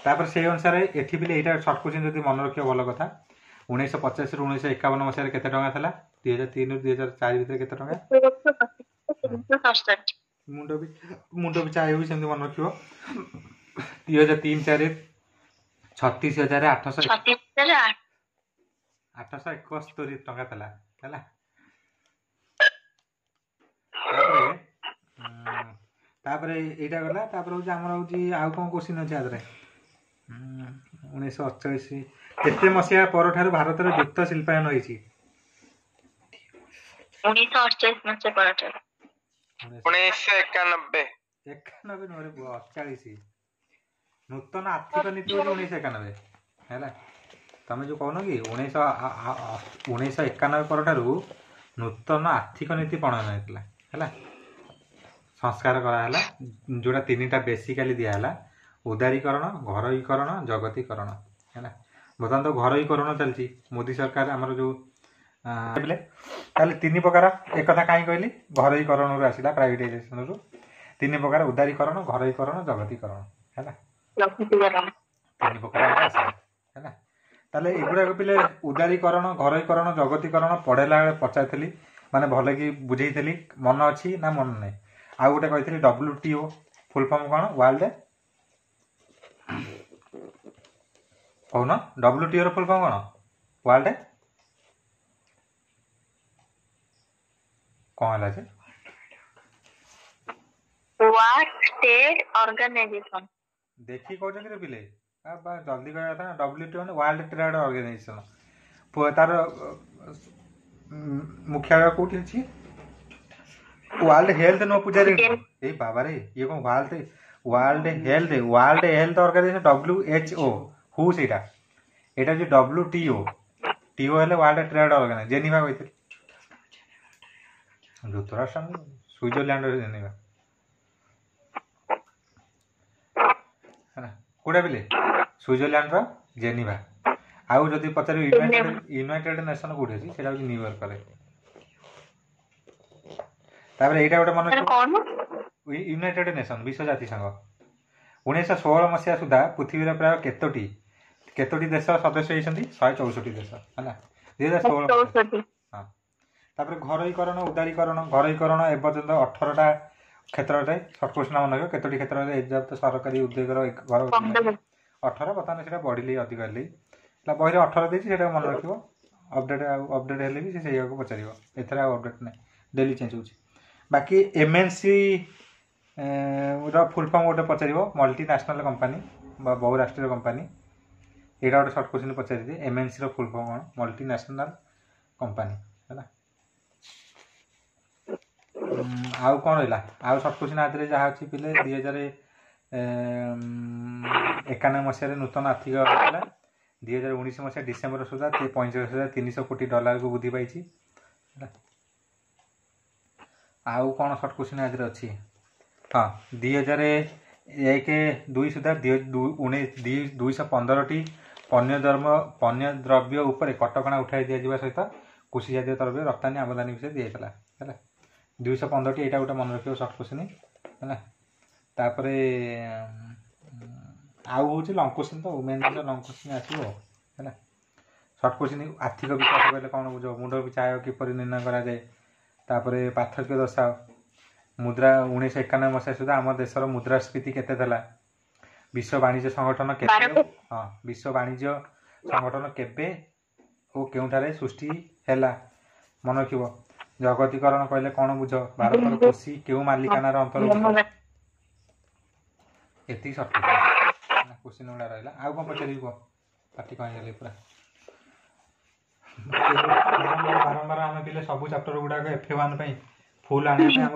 ତାପରେ ସେଇ ଅନୁସାରେ ଏଠି ପିଲେ ଏଇଟା ସର୍ଟ କ୍ୱେଶ୍ଚନ ଯଦି ମନେ ରଖିବ ଭଲ କଥା। 1950ରୁ 1951 ମସିହାରେ କେତେ ଟଙ୍କା ଥିଲା? 2003ରୁ 2004 ଭିତରେ କେତେ ଟଙ୍କା? 367। ମୁଣ୍ଡ ପିଛା ଆୟ ବି ସେମିତି ମନେ ରଖିବ। 2003-04 36,800 36,000 871 ଟଙ୍କା ଥିଲା। ହେଲା, ତାପରେ ତାପରେ ଏଇଟା ଗଲା। ତାପରେ ହେଉଛି ଆମର ହେଉଛି ଆଉ କ'ଣ କୋଶ୍ଚିନ୍ ଅଛି ଆ ଦେହରେ? 1948 କେତେ ମସିହା ପରଠାରୁ ଭାରତରେ ଦ୍ରୁତ ଶିଳ୍ପାୟନ ହେଇଛି? 1948 ମସିହା ପରଠାରୁ। 1991। 91 ନୁହଁରେ ପୁଅ, 48। ନୂତନ ଆର୍ଥିକ ନୀତି ହେଉଛି 1991। ହେଲା, ତମେ ଯୋଉ କହୁନ କି 1991 ପରଠାରୁ ନୂତନ ଆର୍ଥିକ ନୀତି ପ୍ରଣୟନ ହେଇଥିଲା। ହେଲା, ସଂସ୍କାର କରାହେଲା, ଯୋଉଟା ତିନିଟା ବେସିକାଲି ଦିଆହେଲା, ଉଦାରୀକରଣ, ଘରୋଇକରଣ, ଜଗତୀକରଣ। ହେଲା, ବର୍ତ୍ତମାନ ତ ଘରୋଇକରଣ ଚାଲିଛି ମୋଦି ସରକାର ଆମର ଯୋଉ ତାହେଲେ ତିନି ପ୍ରକାର। ଏକଥା କାହିଁ କହିଲି? ଘରୋଇକରଣରୁ ଆସିଲା, ପ୍ରାଇଭେଟାଇଜେସନରୁ। ତିନି ପ୍ରକାର, ଉଦାରୀକରଣ, ଘରୋଇକରଣ, ଜଗତୀକରଣ। ହେଲା, ତିନି ପ୍ରକାର ଆମର ଆସିଲା। ହେଲା, ତାହେଲେ ଏଗୁଡ଼ାକ ପିଲେ ଉଦାରୀକରଣ, ଘରୋଇକରଣ, ଜଗତୀକରଣ ପଢ଼େଇଲା ବେଳେ ପଚାରିଥିଲି, ମାନେ ଭଲ କି ବୁଝେଇଥିଲି, ମନ ଅଛି ନା ମନ ନାହିଁ? ଆଉ ଗୋଟେ କହିଥିଲି WTO full form କ'ଣ? ୱାର୍ଲଡ କହୁନ, WTO ର ଫୁଲ୍ ଫର୍ମ କ'ଣ? ୱାର୍ଲଡ କ'ଣ ହେଲା ଯେ? World trade organisation. ଦେଖି କହୁଛନ୍ତି ରେ ପିଲେ, ଜଲ୍ଦି କହିବା କଥା ନା। WTO ମାନେ ୱାର୍ଲଡ ଟ୍ରେଡ୍ ଅର୍ଗାନାଇଜେସନ। ତାର ମୁଖ୍ୟାଳୟ କୋଉଠି ଅଛି? ୱାର୍ଲଡ ହେଲ୍ଥ ନୁହଁ ପୂଜାରୀ, ଏଇ ବାବାରେ, ଇଏ କଣ ୱାର୍ଲଡ ହେଲ୍ଥ ଅର୍ଗାନାଇଜେସନ WHO, ହୁ ସେଇଟା। ଏଇଟା ହଉଛି WTO, ଟିଓ ହେଲେ ୱାର୍ଲଡ ଟ୍ରେଡ୍ ଅର୍ଗାନାଇଜେସନ, ଜେନିଭା କହିଥିଲି। ଯୁକ୍ତରାଷ୍ଟ୍ର, ସୁଇଜରଲ୍ୟାଣ୍ଡ ଜେନିଭା ହେଲା। କୋଉଟା ପିଲେ? ସୁଇଜରଲ୍ୟାଣ୍ଡର ଜେନିଭା। ଆଉ ଯଦି ପଚାରିବ ୟୁନାଇଟେଡ୍ ନେସନ କୋଉଠି ଅଛି, ସେଇଟା ହଉଛି ନ୍ୟୁୟର୍କରେ। ତାପରେ ଏଇଟା ଗୋଟେ ମନେ, ୟୁନାଇଟେଡ୍ ନେସନ, ବିଶ୍ୱ ଜାତିସଂଘ। 1916 ମସିହା ସୁଦ୍ଧା ପୃଥିବୀର ପ୍ରାୟ କେତୋଟି କେତୋଟି ଦେଶ ସଦସ୍ୟ ହେଇଛନ୍ତି? 164 ଦେଶ। ହେଲା, 2016। ହଁ, ତାପରେ ଘରୋଇକରଣ, ଉଦାରୀକରଣ। ଘରୋଇକରଣ ଏପର୍ଯ୍ୟନ୍ତ 18ଟା କ୍ଷେତ୍ରରେ, ସର୍ଟ କ୍ୱେଶ୍ଚନ ମନେ ରଖିବ, କେତୋଟି କ୍ଷେତ୍ରରେ ଏଯାବତ ସରକାରୀ ଉଦ୍ୟୋଗର ଘର? 18। ବର୍ତ୍ତମାନ ସେଇଟା ବଢ଼ିଲି, ଅଧିକ ହେଲି। ହେଲା, ବହିରେ 18 ଦେଇଛି, ସେଇଟା ମନେ ରଖିବ। ଅପଡେଟ୍ ଆଉ ଅପଡେଟ୍ ହେଲେ ବି ସେ ସେଇଆକୁ ପଚାରିବ, ଏଥିରେ ଆଉ ଅପଡେଟ୍ ନାହିଁ। ଡେଲି ଚେଞ୍ଜ ହେଉଛି। ବାକି ଏମ୍ଏନ୍ସି ର ଫୁଲ୍ ଫର୍ମ ଗୋଟେ ପଚାରିବ, ମଲ୍ଟି ନ୍ୟାସନାଲ୍ କମ୍ପାନୀ ବା ବହୁରାଷ୍ଟ୍ରୀୟ କମ୍ପାନୀ। ଏଇଟା ଗୋଟେ ସର୍ଟ କୋଶ୍ଚିନ୍ ପଚାରିଦିଏ, ଏମ୍ଏନ୍ସିର ଫୁଲ୍ ଫର୍ମ କ'ଣ? ମଲ୍ଟି ନ୍ୟାସନାଲ୍ କମ୍ପାନୀ, ହେଲା। ଆଉ କ'ଣ ରହିଲା? ଆଉ ସର୍ଟ କୋଶ୍ଚିନ୍ ଆଧିରେ ଯାହା ଅଛି ପିଲେ, 2091 ମସିହାରେ ନୂତନ ଆର୍ଥିକ ହେଇଥିଲା। 2019 ମସିହା ଡିସେମ୍ବର ସୁଦ୍ଧା 45,300 କୋଟି ଡଲାରକୁ ବୃଦ୍ଧି ପାଇଛି, ହେଲା। ଆଉ କ'ଣ ସର୍ଟ କୋଶ୍ଚିନ୍ ଆଧିରେ ଅଛି? ହଁ, 2001-2 ସୁଦ୍ଧା 215ଟି ପଣ୍ୟ ଦ୍ରବ୍ୟ ଉପରେ କଟକଣା ଉଠାଇ ଦିଆଯିବା ସହିତ କୃଷି ଜାତୀୟ ଦ୍ରବ୍ୟ ରପ୍ତାନୀ ଆମଦାନୀ ବିଷୟରେ ଦିଆଯାଇଥିଲା, ହେଲା। 215ଟି, ଏଇଟା ଗୋଟେ ମନେ ରଖିବ ସର୍ଟ କୋଶ୍ଚିନ୍, ହେଲା। ତାପରେ ଆଉ ହେଉଛି ଲଙ୍ଗ କୋଶ୍ଚିନ୍ ତ, ମେନ୍ ଜିନିଷ ଲଙ୍ଗ କୋଶ୍ଚିନ୍ ଆସିବ, ହେଲା। ସର୍ଟ କୋଶ୍ଚିନ୍, ଆର୍ଥିକ ବିକାଶ କହିଲେ କ'ଣ ବୁଝ? ମୁଣ୍ଡ ପିଛା ଆୟ କିପରି ନିର୍ଣ୍ଣୟ କରାଯାଏ? ତାପରେ ପାର୍ଥକ୍ୟ ଦର୍ଶାଅ। ମୁଦ୍ରା, 1991 ମସିହା ସୁଦ୍ଧା ଆମ ଦେଶର ମୁଦ୍ରାସ୍ଫୀତି କେତେ ଥିଲା? ବିଶ୍ୱ ବାଣିଜ୍ୟ ସଂଗଠନ କେବେ, ହଁ, ବିଶ୍ୱ ବାଣିଜ୍ୟ ସଂଗଠନ କେବେ ଓ କେଉଁଠାରେ ସୃଷ୍ଟି ହେଲା? ମନେ ରଖିବ। ଜଗତୀକରଣ କହିଲେ କ'ଣ ବୁଝ? ଭାରତର କୃଷି କେଉଁ ମାଲିକାନାର ଅନ୍ତର୍ଭୁକ୍ତ? ଏତିକି ସର୍ଟ କୋଶ୍ଚିନ୍ ଗୁଡ଼ା ରହିଲା। ଆଉ କ'ଣ ପଚାରିବି କୁହ? ପାଟି କ'ଣ ହେଇଗଲି ପୁରା। ବାରମ୍ବାର ବାରମ୍ବାର ଆମେ ପିଲେ ସବୁ ଚାପ୍ଟର ଗୁଡ଼ାକ ଏଫ୍ ୱାନ୍ ପାଇଁ ଫୁଲ୍ ଆଣିବା ପାଇଁ ଆମ